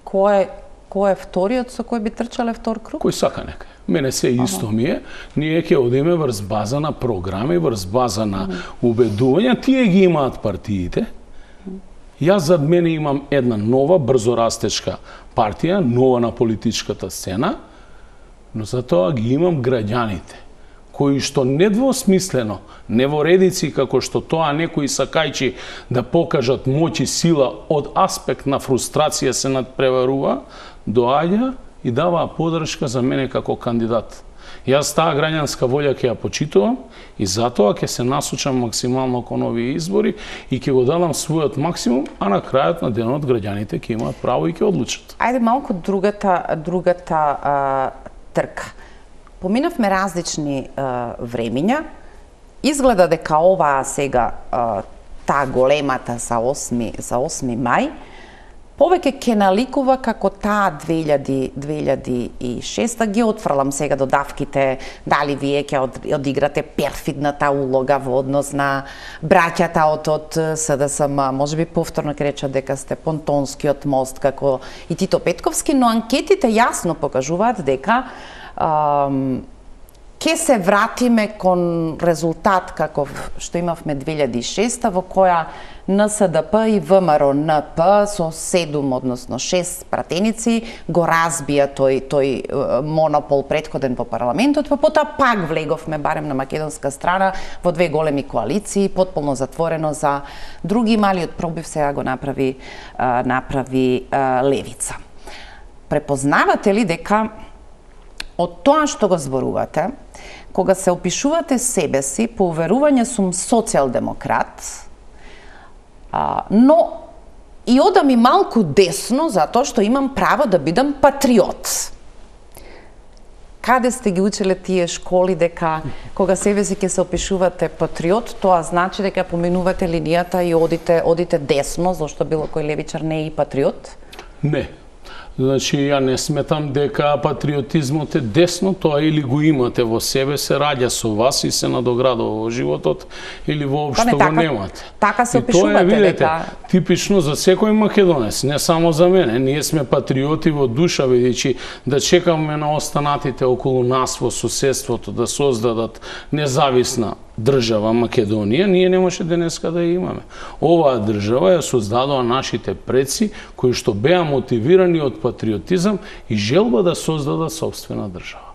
Speaker 1: Кој е кој е вториот со кој би трчале втор круг?
Speaker 2: Кој сака нека. Мене се исто ми е. Ние ќе одиме врз база на програми, врз база на убедувања. Тие ги имаат партиите. Јас зад мене имам една нова, брзо растечка партија, нова на политичката сцена, но за тоа ги имам граѓаните, кои што недвосмислено, не во редици како што тоа некои сакајчи да покажат моќ и сила од аспект на фрустрација се надпреварува, доаѓа и дава поддршка за мене како кандидат. Јас таа граѓанска волја ќе ја почитувам и затоа ќе се насочам максимално кон овие избори и ќе го дадам својот максимум, а на крајот на денот граѓаните ќе имаат право и ќе одлучат.
Speaker 1: Ајде малку другата другата а, трка. Поминавме различни а, времиња. Изгледа дека оваа сега а, таа големата за осми за осми мај повеќе ќе наликува како таа две илјади и шеста. Ги отфрлам сега додавките, дали вие ќе одиграте перфидната улога во однос на браќата од од СДСМ, можеби повторно ќе речат дека сте понтонскиот мост како и Тито Петковски, но анкетите јасно покажуваат дека ам, ке се вратиме кон резултат каков што имавме две илјади и шеста, во која Н С Д П и В М Р Н П со седум, односно шест пратеници го разбија тој тој монопол претходен во парламентот, па потоа пак влеговме барем на македонска страна во две големи коалиции, потполно затворено за други малиот пробив сега го направи направи левица. Препознавате ли дека од тоа што го зборувате, кога се опишувате себе си, по уверување сум социјалдемократ, а, но и одам и малку десно затоа што имам право да бидам патриот. Каде сте ги учеле тие школи дека кога себе си ќе се опишувате патриот, тоа значи дека поминувате линијата и одите одите десно, зашто било кој левичар не е и патриот?
Speaker 2: Не. Значи, ја не сметам дека патриотизмот е десно, тоа или го имате во себе, се раѓа со вас и се надоградува во животот, или воопшто го немате.
Speaker 1: Така се опишувате,
Speaker 2: видите,
Speaker 1: дека...
Speaker 2: типично за секој македонец, не само за мене. Ние сме патриоти во душа, бидејќи да чекаме на останатите околу нас во соседството да создадат независна држава Македонија, ние не може денеска да ја имаме. Оваа држава ја создадоа нашите предци, кои што беа мотивирани од патриотизам и желба да создадат собствена држава.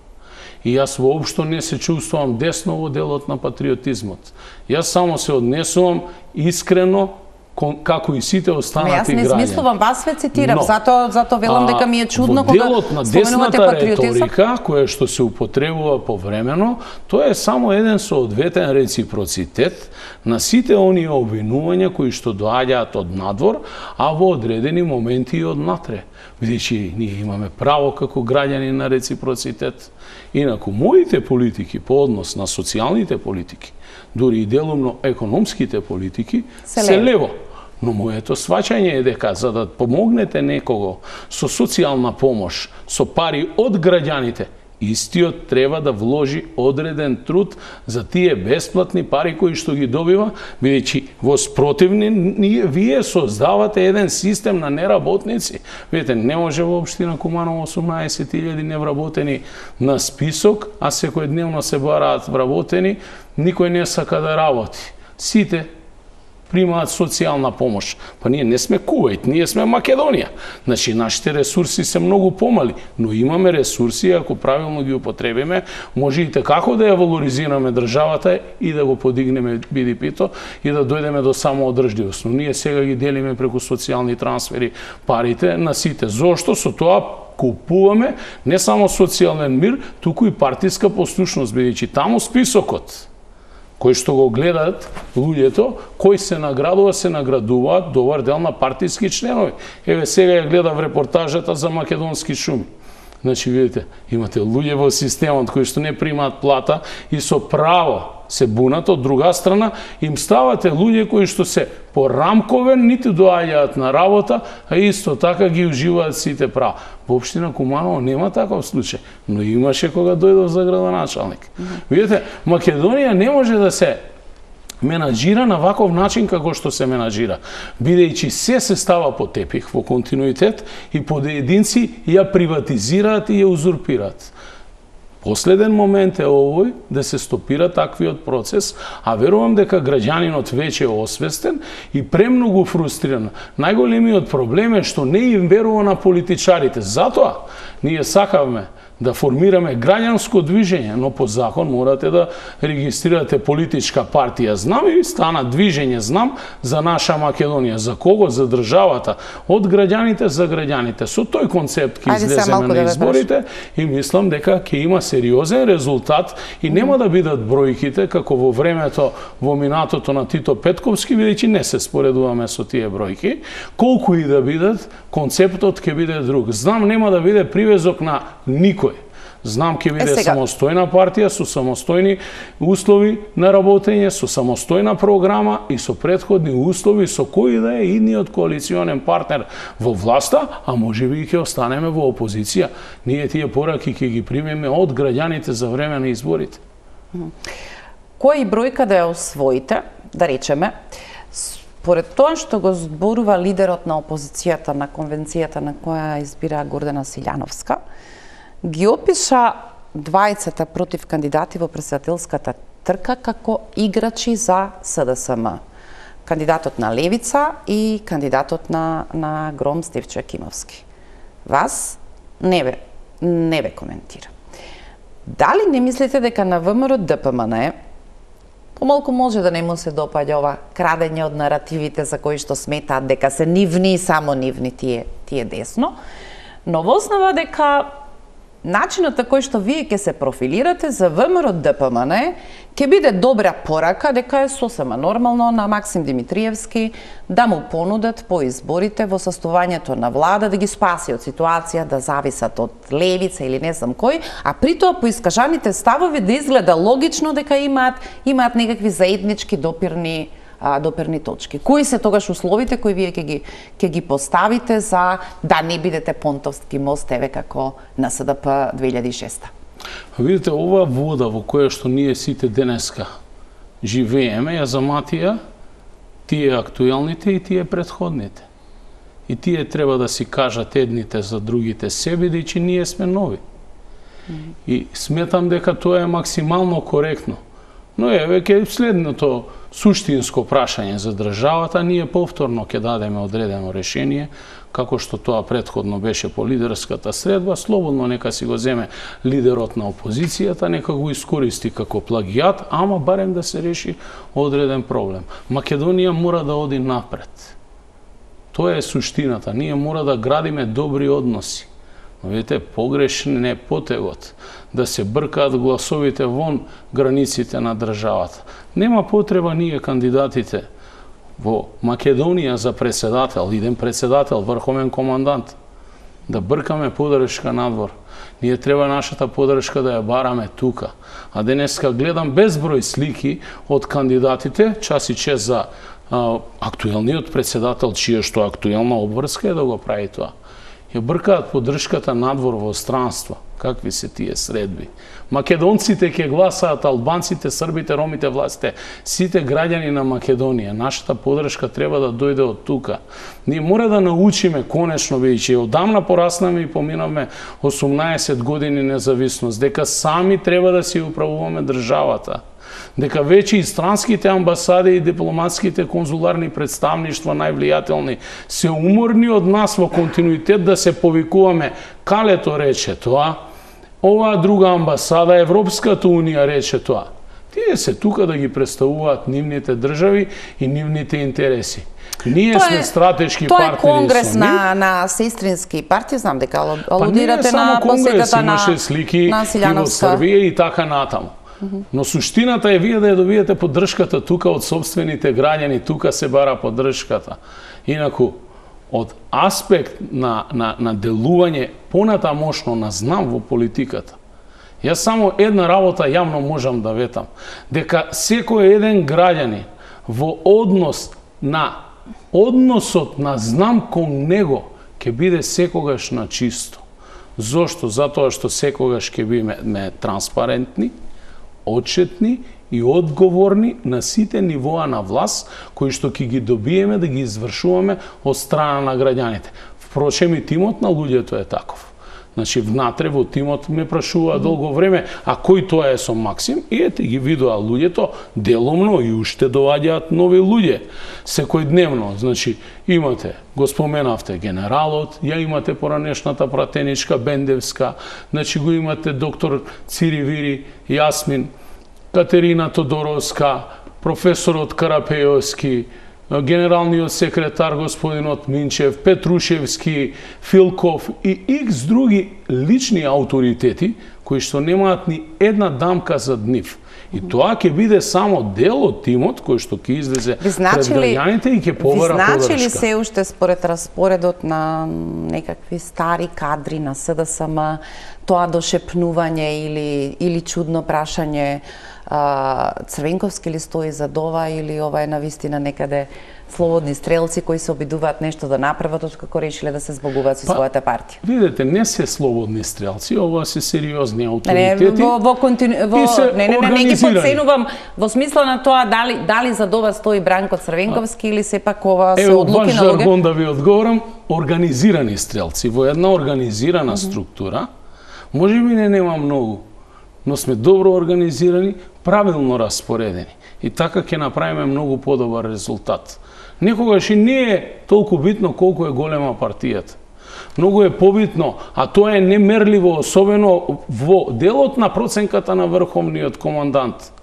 Speaker 2: И јас воопшто не се чувствувам десно во делот на патриотизмот. Јас само се однесувам искрено како и сите останати граѓани.
Speaker 1: Јас не смислувам, вас ве цитирам, затоа затоа велам дека ми е чудно кога
Speaker 2: делот на десната реторика, која што се употребува повремено, тоа е само еден соодветен реципроцитет на сите оние обвинувања кои што доаѓаат од надвор, а во одредени моменти и од натре. Бидејќи ние имаме право како граѓани на реципроцитет. Инаку моите политики по однос на социјалните политики, дури и делумно економските политики, се, се лево. лево. Но моето сваќање е дека за да помогнете некого со социјална помош, со пари од граѓаните, истиот треба да вложи одреден труд за тие бесплатни пари кои што ги добива, бидејќи во спротивни вие создавате еден систем на неработници. Видите, не може во општина Куманово осумнаесет илјади невработени на список, а секојдневно се бараат вработени, никој не сака да работи. Сите примаат социјална помош. Па ние не сме Кувајт, ние сме Македонија. Значи, нашите ресурси се многу помали, но имаме ресурси, ако правилно ги употребиме, може и како да ја валоризираме државата и да го подигнеме Би Ди Пи-то и да дојдеме до самоодржливост. Но ние сега ги делиме преку социјални трансфери парите на сите. Зошто? Со тоа купуваме не само социјален мир, туку и партиска послушност, бидејќи таму списокот кои што го гледаат луѓето, кои се наградува, се наградуваат добар дел на партиски членови. Еве сега ја гледав репортажата за македонски шуми. Значи, видите, имате луѓе во системот кои што не примаат плата и со право се бунат, од друга страна им ставате луѓе кои што се порамковен, ниту доаѓаат на работа, а исто така ги уживаат сите права. Во општина Куманово нема таков случај, но имаше кога дојдов за градоначалник. Видите, Македонија не може да се менаџира на ваков начин како што се менаџира, бидејќи се се става по тепих во континуитет и поединци ја приватизираат и ја узурпираат. Последен момент е овој да се стопира таквиот процес, а верувам дека граѓанинот веќе е освестен и премногу фрустриран. Најголемиот проблем е што не им верува на политичарите. Затоа ние сакавме да формираме граѓанско движење, но по закон морате да регистрирате политичка партија Знам и стана движење Знам за наша Македонија. За кого? За државата. Од граѓаните за граѓаните. Со тој концепт ќе излеземе на изборите и мислам дека ќе има сериозен резултат и нема да бидат бројките како во времето во минатото на Тито Петковски, бидејќи не се споредуваме со тие бројки. Колку и да бидат, концептот ќе биде друг. Знам нема да биде привезок на никој. Знам ќе биде е, самостојна партија со самостојни услови на работење, со самостојна програма и со претходни услови со кој да е идниот коалиционен партнер во власта, а можеби и ќе останеме во опозиција. Ние тие пораки ќе ги примеме од граѓаните за време на изборите.
Speaker 1: Кој бројка да ја освоите, да речеме, според тоа што го зборува лидерот на опозицијата на конвенцијата на која избира Гордана Силјановска, ги опиша двајцата против кандидати во претседателската трка како играчи за С Д С М. Кандидатот на Левица и кандидатот на, на Гром Стефчо Јакимовски. Вас не ве, не ве коментира. Дали не мислите дека на В М Р Д П М Н помалку може да не му се допаѓа ова крадење од наративите за кои што сметаат дека се нивни и само нивни тие, тие десно, но во основа дека начинот на кој што вие ќе се профилирате за В М Р Д П М Н ќе биде добра порака дека е сосема нормално на Максим Димитриевски да му понудат по изборите во состојањето на влада да ги спаси од ситуација, да зависат од Левица или не знам кој, а при тоа по искажаните ставови да изгледа логично дека имаат имаат некакви заеднички допирни а, допирни точки. Кои се тогаш условите кои вие ќе ги ќе ги поставите за да не бидете понтовски мост еве како на С Д П две илјади и шеста?
Speaker 2: Видите, ова вода во која што ние сите денеска живееме, ја заматија тие актуелните и тие претходните. И тие треба да си кажат едните за другите себе, бидејќи ние сме нови. Mm -hmm. И сметам дека тоа е максимално коректно. Но еве ке следното суштинско прашање за државата, ние повторно ќе дадеме одредено решение, како што тоа претходно беше по лидерската средба, слободно нека си го земе лидерот на опозицијата, нека го искористи како плагијат, ама барем да се реши одреден проблем. Македонија мора да оди напред. Тоа е суштината. Ние мора да градиме добри односи. Но видите, погрешен е потегот да се бркаат гласовите вон границите на државата. Нема потреба ние кандидатите во Македонија за председател, иден председател, врховен командант, да бркаме подршка надвор. Ние треба нашата подршка да ја бараме тука. А денеска гледам безброј слики од кандидатите, час и чест за а, актуелниот председател, чија што актуелна обврска е да го прави тоа. Ја бркаат подршката надвор во странство. Какви се тие средби? Македонците ќе гласаат, албанците, србите, ромите, властите, сите граѓани на Македонија. Нашата подршка треба да дојде од тука. Ние мора да научиме конечно, бидејќи одамна пораснаме и поминавме осумнаесет години независност, дека сами треба да си управуваме државата. Дека веќе и странските амбасади и дипломатските конзуларни представништва највлијателни се уморни од нас во континуитет да се повикуваме Калето рече тоа, оваа друга амбасада, Европската унија рече тоа. Тие се тука да ги представуваат нивните држави и нивните интереси. Ние
Speaker 1: тоа
Speaker 2: сме
Speaker 1: е,
Speaker 2: стратешки
Speaker 1: тоа
Speaker 2: партнери.
Speaker 1: Тоа е конгрес на, на сестрински партии, знам дека алудирате
Speaker 2: па
Speaker 1: на посетата на
Speaker 2: имаше слики
Speaker 1: на
Speaker 2: и во Србија и така натаму. Но суштината е вие да ја добиете поддршката тука од собствените граѓани, тука се бара поддршката. Инаку, од аспект на, на, на делување понатамошно на знам во политиката, јас само една работа јавно можам да ветам, дека секој еден граѓанин во однос на односот на знам кон него ќе биде секогаш на чисто. Зошто? Затоа што секогаш ќе биме транспарентни, отчетни и одговорни на сите нивоа на власт кои што ќе ги добиеме да ги извршуваме од страна на граѓаните. Впрочем и тимот на луѓето е таков. Значи внатре во тимот ме прашува долго време, а кој тоа е со Максим? И ете ги видоа луѓето деломно и уште доаѓаат нови луѓе секојдневно. Значи имате, го споменавте генералот, ја имате поранешната пратеничка Бендевска, значи го имате доктор Циривири, Јасмин, Катерина Тодоровска, професорот Карапејовски, генералниот секретар господинот Минчев, Петрушевски, Филков и икс други лични авторитети кои што немаат ни една дамка за нив. И тоа ќе биде само дел од тимот кој што ќе излезе пред граѓаните и ќе побара подршка.
Speaker 1: Ви значи ли се уште според распоредот на некакви стари кадри на С Д С М тоа дошепнување или или чудно прашање Црвенковски ли стои за ова или ова е навистина некаде слободни стрелци кои се обидуваат нешто да направат откако решиле да се збогуваат со па, својата партија?
Speaker 2: Видете, не се слободни стрелци, ова се сериозни авторитети.
Speaker 1: Не, во, во, контину... во... не, не, не, не ги подценувам во смисла на тоа дали дали за ова стои Бранко Црвенковски или сепак ова се одлуки на луѓе.
Speaker 2: Ево, баш жаргон да ви одговорам, организирани стрелци во една организирана mm -hmm. структура. Може би не нема многу, но сме добро организирани, правилно распоредени. И така ќе направиме многу подобар резултат. Некогаш и не е толку битно колку е голема партијата. Многу е побитно, а тоа е немерливо, особено во делот на проценката на врховниот командант.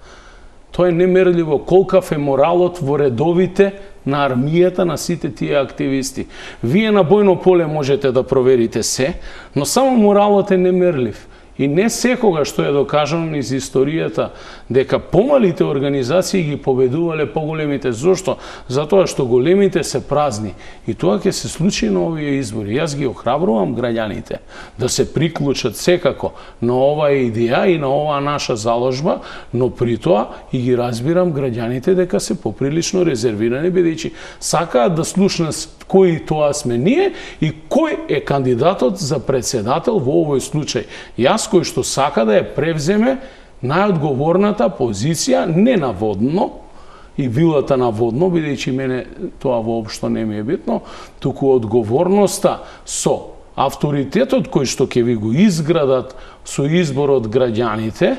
Speaker 2: Тоа е немерливо колкав е моралот во редовите на армијата, на сите тие активисти. Вие на бојно поле можете да проверите се, но само моралот е немерлив. И не секога што е докажано низ историјата дека помалите организации ги победувале поголемите. Зошто? Затоа што големите се празни. И тоа ќе се случи на овие избори. Јас ги охрабрувам граѓаните да се приклучат секако на оваа идеја и на оваа наша заложба, но при тоа и ги разбирам граѓаните дека се поприлично резервирани, бидејќи сакаат да слушнат кои тоа сме ние и кој е кандидатот за председател во овој случај. Јас кој што сака да ја превземе најодговорната позиција, не наводно, и вилата наводно, бидејќи мене тоа воопшто не ми е битно, туку одговорноста со авторитетот кој што ќе ви го изградат со избор од граѓаните,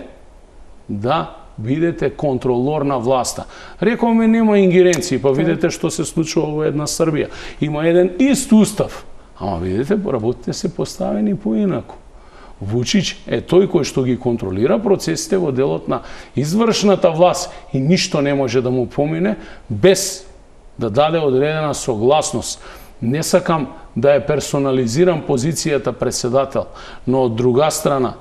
Speaker 2: да бидете контролор на власта. Рековме нема ингеренции, па видете што се случува во една Србија. Има еден ист устав, ама видите, работите се поставени поинаку. Вучич е тој кој што ги контролира процесите во делот на извршната власт и ништо не може да му помине без да даде одредена согласност. Не сакам да ја персонализирам позицијата председател, но од друга страна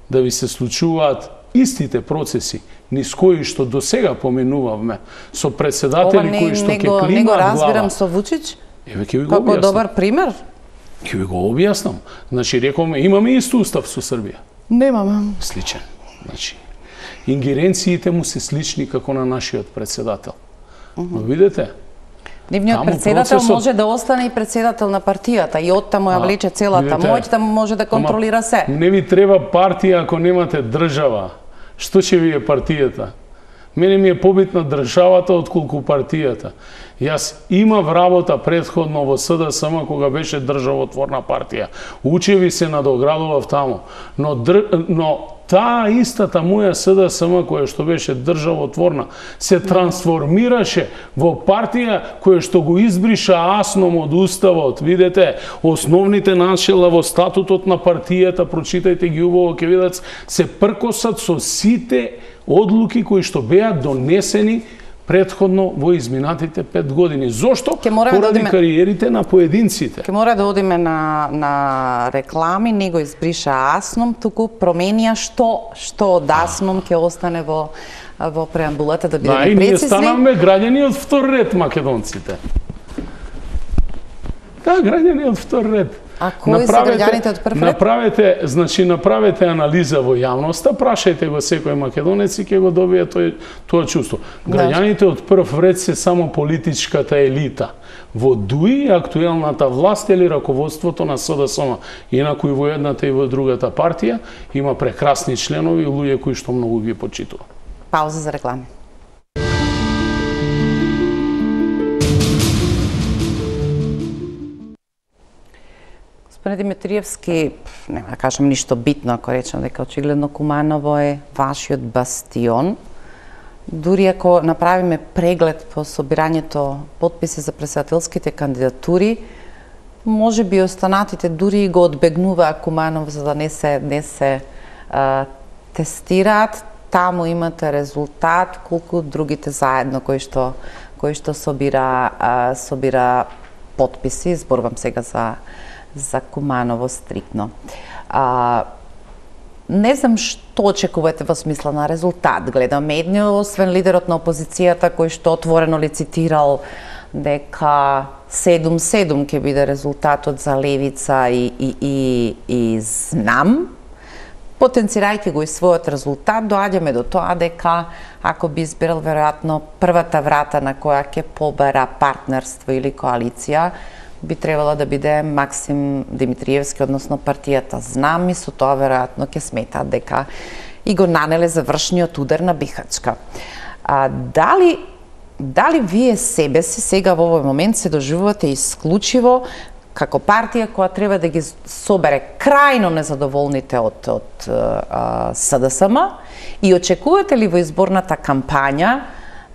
Speaker 2: да ви се случуваат истите процеси низ кои што до сега поменувавме со председатели
Speaker 1: не,
Speaker 2: кои што ќе климаат глава.
Speaker 1: Не го разбирам со Вучич.
Speaker 2: Еве ќе ви го
Speaker 1: Како
Speaker 2: објаснам.
Speaker 1: добар пример?
Speaker 2: Ќе ви го објаснам. Значи, рековме, имаме ист устав со Србија.
Speaker 1: Немаме.
Speaker 2: Сличен. Значи, ингеренциите му се слични како на нашиот председател. Uh -huh. Но видите,
Speaker 1: нивниот председател процесот... може да остане и председател на партијата и оттаму ја влече целата моќ, да може да контролира
Speaker 2: ама,
Speaker 1: се.
Speaker 2: Не ви треба партија ако немате држава. Што ќе ви е партијата? Мене ми е побитна државата отколку партијата. Јас имав работа претходно во С Д С М кога беше државотворна партија. Учеви се надоградував таму, но др... но таа истата моја С Д С М која што беше државотворна се трансформираше во партија која што го избриша асном од уставот. Видете, основните начела во статутот на партијата, прочитајте ги убаво, ќе видат, се пркосат со сите одлуки кои што беа донесени претходно во изминатите пет години. Зошто? Поради да одиме... кариерите на поединците.
Speaker 1: Ке мора да одиме на, на реклами, не го избриша асном, туку променија што што од асном ќе остане во во преамбулата, да бидеме прецизни. Да, и ние
Speaker 2: станавме граѓани од втор ред македонците. Да, граѓани од втор ред.
Speaker 1: А кои се граѓаните од прв ред?
Speaker 2: Направете, значи направете анализа во јавноста, прашајте го секој македонец и ќе го добие тој тоа чувство. Граѓаните од прв ред се само политичката елита. Во ДУИ актуелната власт или раководството на С Д С М. Инаку и во едната и во другата партија има прекрасни членови и луѓе кои што многу ги почитува.
Speaker 1: Пауза за реклами. Господине Димитриевски, нема да кажам ништо битно, ако речам дека очигледно Куманово е вашиот бастион. Дури ако направиме преглед по собирањето потписи за председателските кандидатури, може би останатите дури го одбегнуваа Куманов за да не се, не се а, тестираат. Таму имате резултат, колку другите заедно кои што, кои што собира, а, собира потписи. Зборувам сега за за Куманово стрикно. А, не знам што очекувате во смисла на резултат. Гледаме едни, освен лидерот на опозицијата кој што отворено лицитирал дека седум седум ќе биде резултатот за Левица и, и, и, и знам. Потенцирајќи го и својот резултат, доаѓаме до тоа дека ако би избирал веројатно првата врата на која ќе побара партнерство или коалиција, би требало да биде Максим Димитриевски, односно партијата Знам, и со тоа веројатно ќе сметаат дека и го нанеле завршниот удар на Бихачка. А, дали, дали вие себе си сега во овој момент се доживувате исклучиво како партија која треба да ги собере крајно незадоволните од, од а, С Д С М и очекувате ли во изборната кампања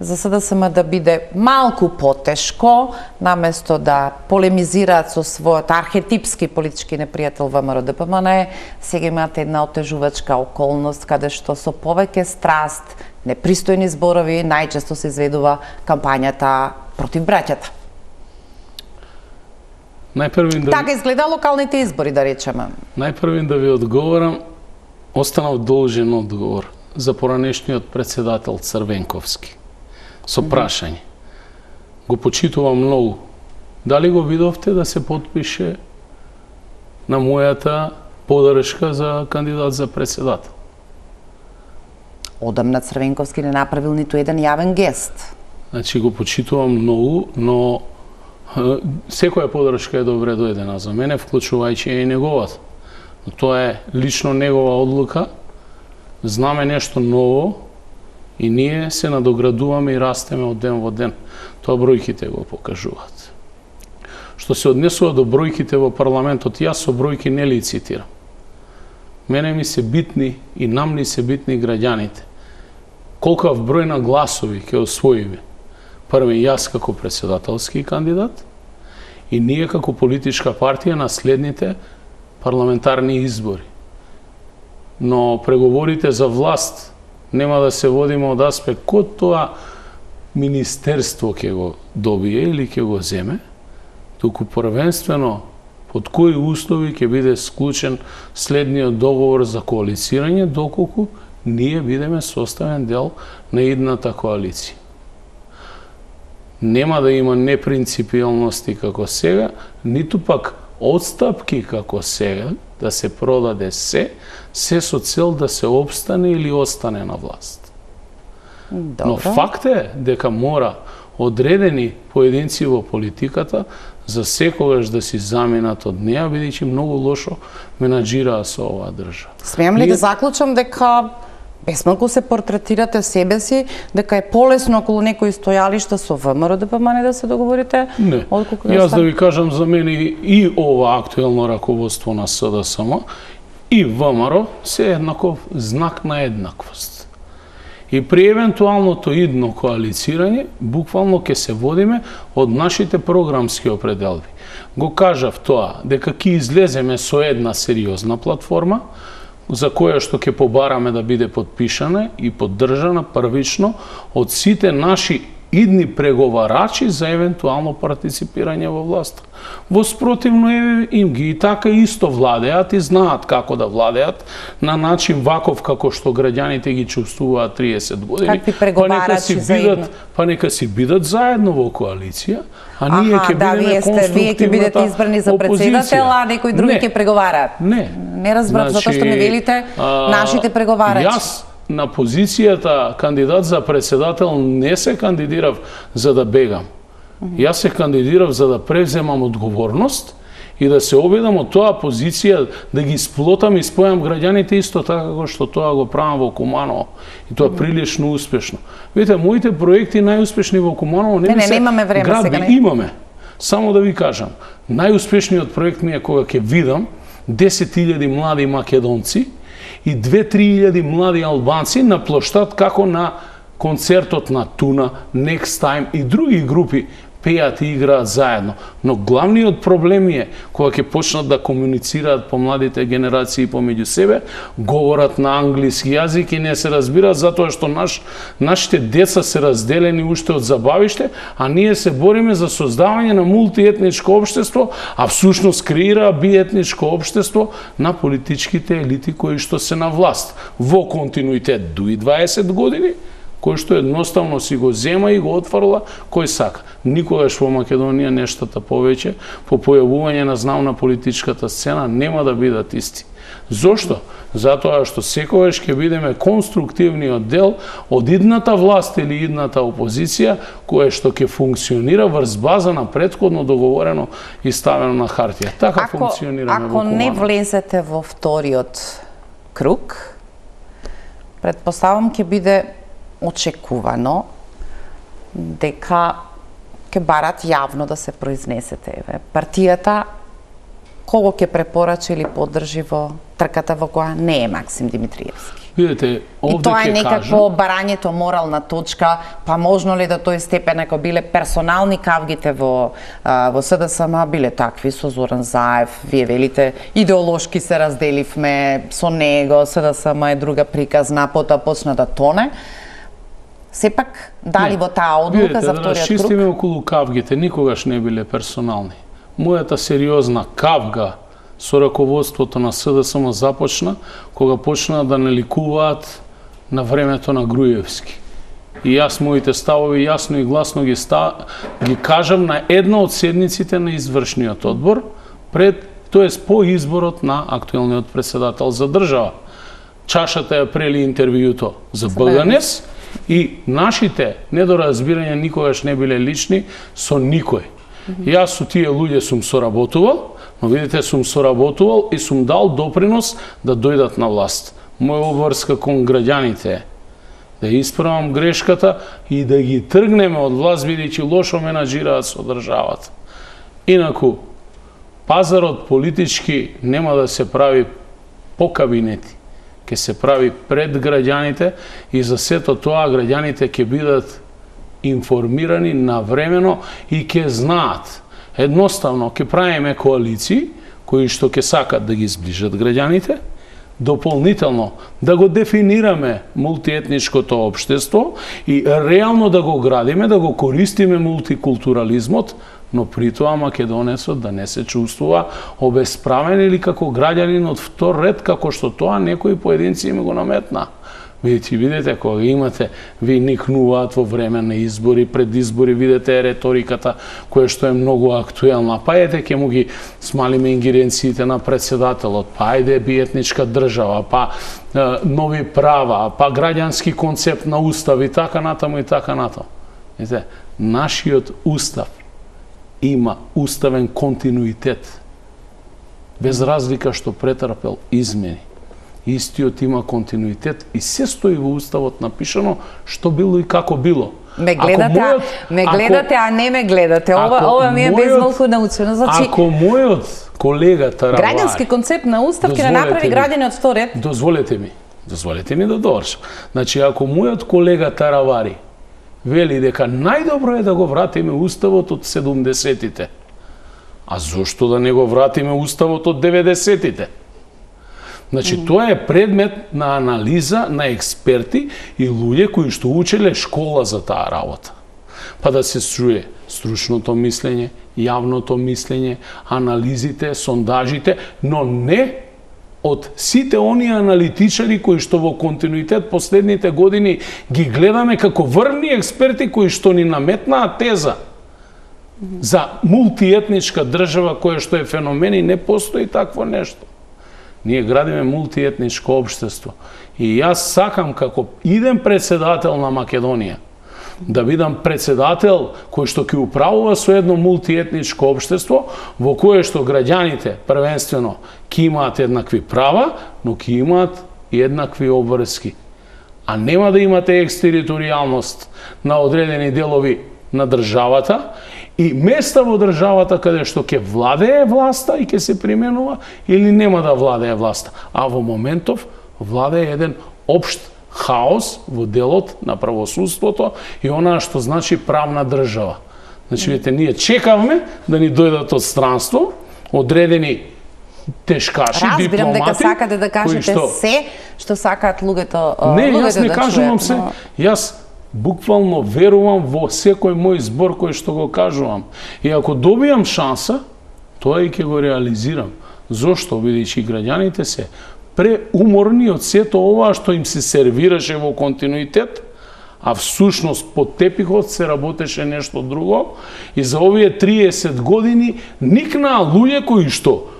Speaker 1: за С Д С М да биде малку потешко, наместо да полемизираат со својот архетипски политички непријател Вэ М Р Д П М Н, сега имате една отежувачка околност каде што со повеќе страст, непристојни зборови, најчесто се изведува кампањата против браќата.
Speaker 2: Најпрвин да
Speaker 1: Така изгледа локалните избори, да речеме.
Speaker 2: Најпрвин да ви одговорам, останав должен одговор за поранешниот председател Црвенковски. Со прашање. Го почитувам многу. Дали го видовте да се потпише на мојата подршка за кандидат за председател?
Speaker 1: Одамна Црвенковски не направил ниту еден јавен гест.
Speaker 2: Значи го почитувам многу, но секоја подршка е добре дојдена за мене, вклучувајќи и неговата. Но тоа е лично негова одлука. Знаме нешто ново и ние се надоградуваме и растеме од ден во ден. Тоа бројките го покажуваат. Што се однесува до бројките во парламентот, јас со бројки не лицитирам. Мене ми се битни и нам ни се битни граѓаните. Колкав број на гласови ќе освоиме? Први јас како председателски кандидат и ние како политичка партија на следните парламентарни избори. Но преговорите за власт нема да се водиме од аспект кој тоа министерство ќе го добие или ќе го земе, туку првенствено под кои услови ќе биде склучен следниот договор за коалицирање, доколку ние бидеме составен дел на идната коалиција. Нема да има непринципиалности како сега, ниту пак отстапки како сега, да се продаде се, се со цел да се обстане или остане на власт.
Speaker 1: Добро.
Speaker 2: Но факт е дека мора одредени поединци во политиката за секогаш да си заминат од неа, бидејќи многу лошо менаџираа со оваа држава.
Speaker 1: Смеам ли да заклучам дека безмалку се портретирате себе си, дека е полесно околу некои стојалишта со Вэ М Р Д П М Н да се договорите?
Speaker 2: Не. Јас да ви кажам, за мене и ова актуелно раководство на С Д С М и Вэ М Р се еднаков знак на еднаквост. И при евентуалното идно коалицирање, буквално ќе се водиме од нашите програмски определби. Го кажав тоа, дека ќе излеземе со една сериозна платформа, за која што ќе побараме да биде подпишана и поддржана првично од сите наши идни преговарачи за евентуално партиципирање во власта. Во спротивно им ги и така исто владеат и знаат како да владеат на начин ваков како што граѓаните ги чувствуваат триесет години.
Speaker 1: Какви преговарачи за идно?
Speaker 2: Па нека си бидат заедно во коалиција, а ние ќе
Speaker 1: да,
Speaker 2: бидеме конструктивната
Speaker 1: вие ќе бидете избрани за председател, а некои други ќе преговараат.
Speaker 2: Не.
Speaker 1: Не разбрав,
Speaker 2: Значи,
Speaker 1: затоа што ми велите нашите преговарачи.
Speaker 2: Јас на позицијата кандидат за председател не се кандидирав за да бегам. Јас се кандидирав за да превземам одговорност и да се обидам од тоа позиција да ги сплотам и спојам граѓаните исто така како што тоа го правам во Куманово. И тоа прилично успешно. Видите, моите проекти најуспешни во Куманово не,
Speaker 1: не,
Speaker 2: не
Speaker 1: не, немаме време
Speaker 2: градби.
Speaker 1: сега. Не.
Speaker 2: Имаме. Само да ви кажам, најуспешниот проект ми е кога ќе видам десет илјади млади македонци и две-три илјади млади албанци на плоштад како на концертот на Туна, Next Time и други групи пеат и играат заедно. Но главниот проблем е кога ќе почнат да комуницираат по младите генерации помеѓу себе, говорат на англиски јазик и не се разбираат затоа што наш, нашите деца се разделени уште од забавиште, а ние се бориме за создавање на мултиетничко општество, а всушност креира биетничко општество на политичките елити кои што се на власт во континуитет дуи дваесет години, кој што едноставно си го зема и го отфрла кој сака. Никогаш во Македонија нештата повеќе по појавување на знам на политичката сцена нема да бидат исти. Зошто? Затоа што секогаш ќе бидеме конструктивниот дел од идната власт или идната опозиција која што ќе функционира врз база на претходно договорено и ставено на хартија. Така
Speaker 1: ако,
Speaker 2: функционираме
Speaker 1: ако
Speaker 2: во Куманово.
Speaker 1: не влезете во вториот круг, предпоставам ќе биде очекувано дека ќе барат јавно да се произнесете. Еве, партијата кого ќе препорача или поддржи во трката во која не е Максим Димитриевски.
Speaker 2: Видете, овде
Speaker 1: и тоа е
Speaker 2: ќе
Speaker 1: некакво
Speaker 2: кажам,
Speaker 1: барањето морална точка, па можно ли до тој степен ако биле персонални кавгите во а, во СДСМ биле такви со Зоран Заев, вие велите идеолошки се разделивме со него, СДСМ е друга приказна, потоа почна да тоне. Сепак дали
Speaker 2: не,
Speaker 1: во таа одлука
Speaker 2: видете,
Speaker 1: за
Speaker 2: да
Speaker 1: вториот
Speaker 2: расчистиме
Speaker 1: круг?
Speaker 2: околу кавгите, никогаш не биле персонални. Мојата сериозна кавга со раководството на СДСМ започна кога почна да не ликуваат на времето на Груевски. И јас моите ставови јасно и гласно ги, ста... ги кажам на една од седниците на извршниот одбор, пред, тоест по изборот на актуелниот председател за држава. Чашата ја прели интервјуто за БГНЕС и нашите недоразбирања никогаш не биле лични со никој. Јас со тие луѓе сум соработувал, но видите, сум соработувал и сум дал допринос да дојдат на власт. Моја обврска кон граѓаните е да исправам грешката и да ги тргнеме од власт, бидејќи лошо менаџираат со државата. Инаку, пазарот политички нема да се прави по кабинети, ќе се прави пред граѓаните и за сето тоа граѓаните ќе бидат информирани навремено и ќе знаат. Едноставно, ќе правиме коалиции кои што ќе сакат да ги зближат граѓаните, дополнително да го дефинираме мултиетничкото општество и реално да го градиме, да го користиме мултикултурализмот, но при тоа македонецот да не се чувствува обесправен или како граѓанин од втор ред, како што тоа некои поединци им го наметна. Видите, видите, кога имате, ви никнуваат во време на избори, пред избори, видите реториката која што е многу актуелна. Па ете, ќе му ги смалиме ингеренциите на председателот, па ајде биетничка држава, па е, нови права, па граѓански концепт на устав и така натаму и така натаму. Видите, нашиот устав има уставен континуитет, без разлика што претрпел измени. Истиот има континуитет и се стои во уставот напишано што било и како било.
Speaker 1: Ме гледате, мојот, а, ме гледате, ако, а не ме гледате. Ова, ова ми е безмалку научено. Значи,
Speaker 2: ако мојот колега Таравари...
Speaker 1: Граѓански концепт на устав ќе направи граѓани од втор ред.
Speaker 2: Дозволете ми, дозволете ми да довршам. Значи, ако мојот колега Таравари вели дека најдобро е да го вратиме уставот од седумдесетите, а зошто да не го вратиме уставот од деветдесетите? Значи, mm -hmm. тоа е предмет на анализа на експерти и луѓе кои што учеле школа за таа работа. Па да се чуе стручното мислење, јавното мислење, анализите, сондажите, но не од сите оние аналитичари кои што во континуитет последните години ги гледаме како врвни експерти кои што ни наметнаа теза за мултиетничка држава која што е феномен и не постои такво нешто. Ние градиме мултиетничко општество. И јас сакам како идем председател на Македонија да бидам председател кој што ќе управува со едно мултиетничко општество во кое што граѓаните првенствено ќе имаат еднакви права, но ќе имаат и еднакви обврски. А нема да имате екстериторијалност на одредени делови на државата и места во државата каде што ќе владее власта и ќе се применува или нема да владее власта. А во моментов владее еден општ хаос во делот на правосудството и онаа што значи правна држава. Значи, видите, ние чекавме да ни дојдат од странство одредени тешкаши,
Speaker 1: Разбирам
Speaker 2: дипломати.
Speaker 1: дека сакате да кажете
Speaker 2: што...
Speaker 1: се што сакаат луѓето,
Speaker 2: не,
Speaker 1: луѓето
Speaker 2: јас не
Speaker 1: да
Speaker 2: кажувам
Speaker 1: чујат,
Speaker 2: се.
Speaker 1: но...
Speaker 2: Јас буквално верувам во секој мој збор кој што го кажувам. И ако добијам шанса, тоа и ќе го реализирам. Зошто? Бидејќи граѓаните се преуморни од сето ова што им се сервираше во континуитет, а всушност под тепихот се работеше нешто друго. И за овие триесет години никнаа луѓе кои што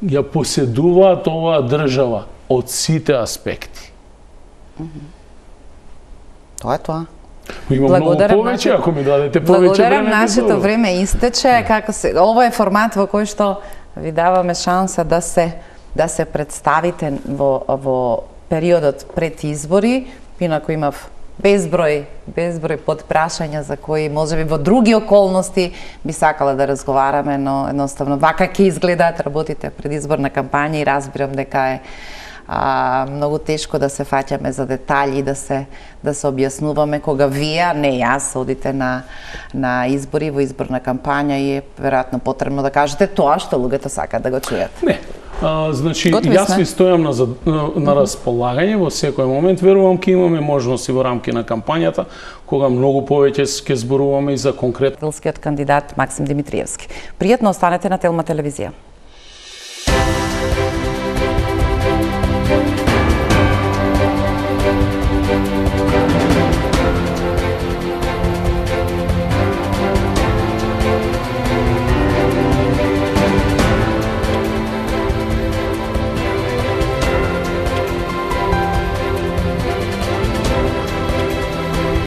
Speaker 2: ја поседуваат оваа држава од сите аспекти.
Speaker 1: Тоа е тоа.
Speaker 2: Има многу повеќе, ако ми дадете повеќе време.
Speaker 1: Благодарам, нашето време истече. Како се, ова е формат во кој што ви даваме шанса да се да се представите во во периодот пред избори. Инаку имав
Speaker 3: безброј, безброј подпрашања за кои можеби во други околности би сакала да разговараме, но едноставно вака ќе изгледаат работите предизборна кампања и разбирам дека е а, многу тешко да се фаќаме за детали, да се да се објаснуваме кога вие, не јас, одите на на избори во изборна кампања и е веројатно потребно да кажете тоа што луѓето сакаат да го чујат.
Speaker 2: Не. А, значи,
Speaker 3: Готови
Speaker 2: јас
Speaker 3: сме.
Speaker 2: ви стојам на, на, на располагање во секој момент. Верувам ќе имаме можности во рамки на кампањата, кога многу повеќе ќе зборуваме и за конкретно
Speaker 1: Кандидат Максим Димитриевски. Пријатно останете на Телма телевизија.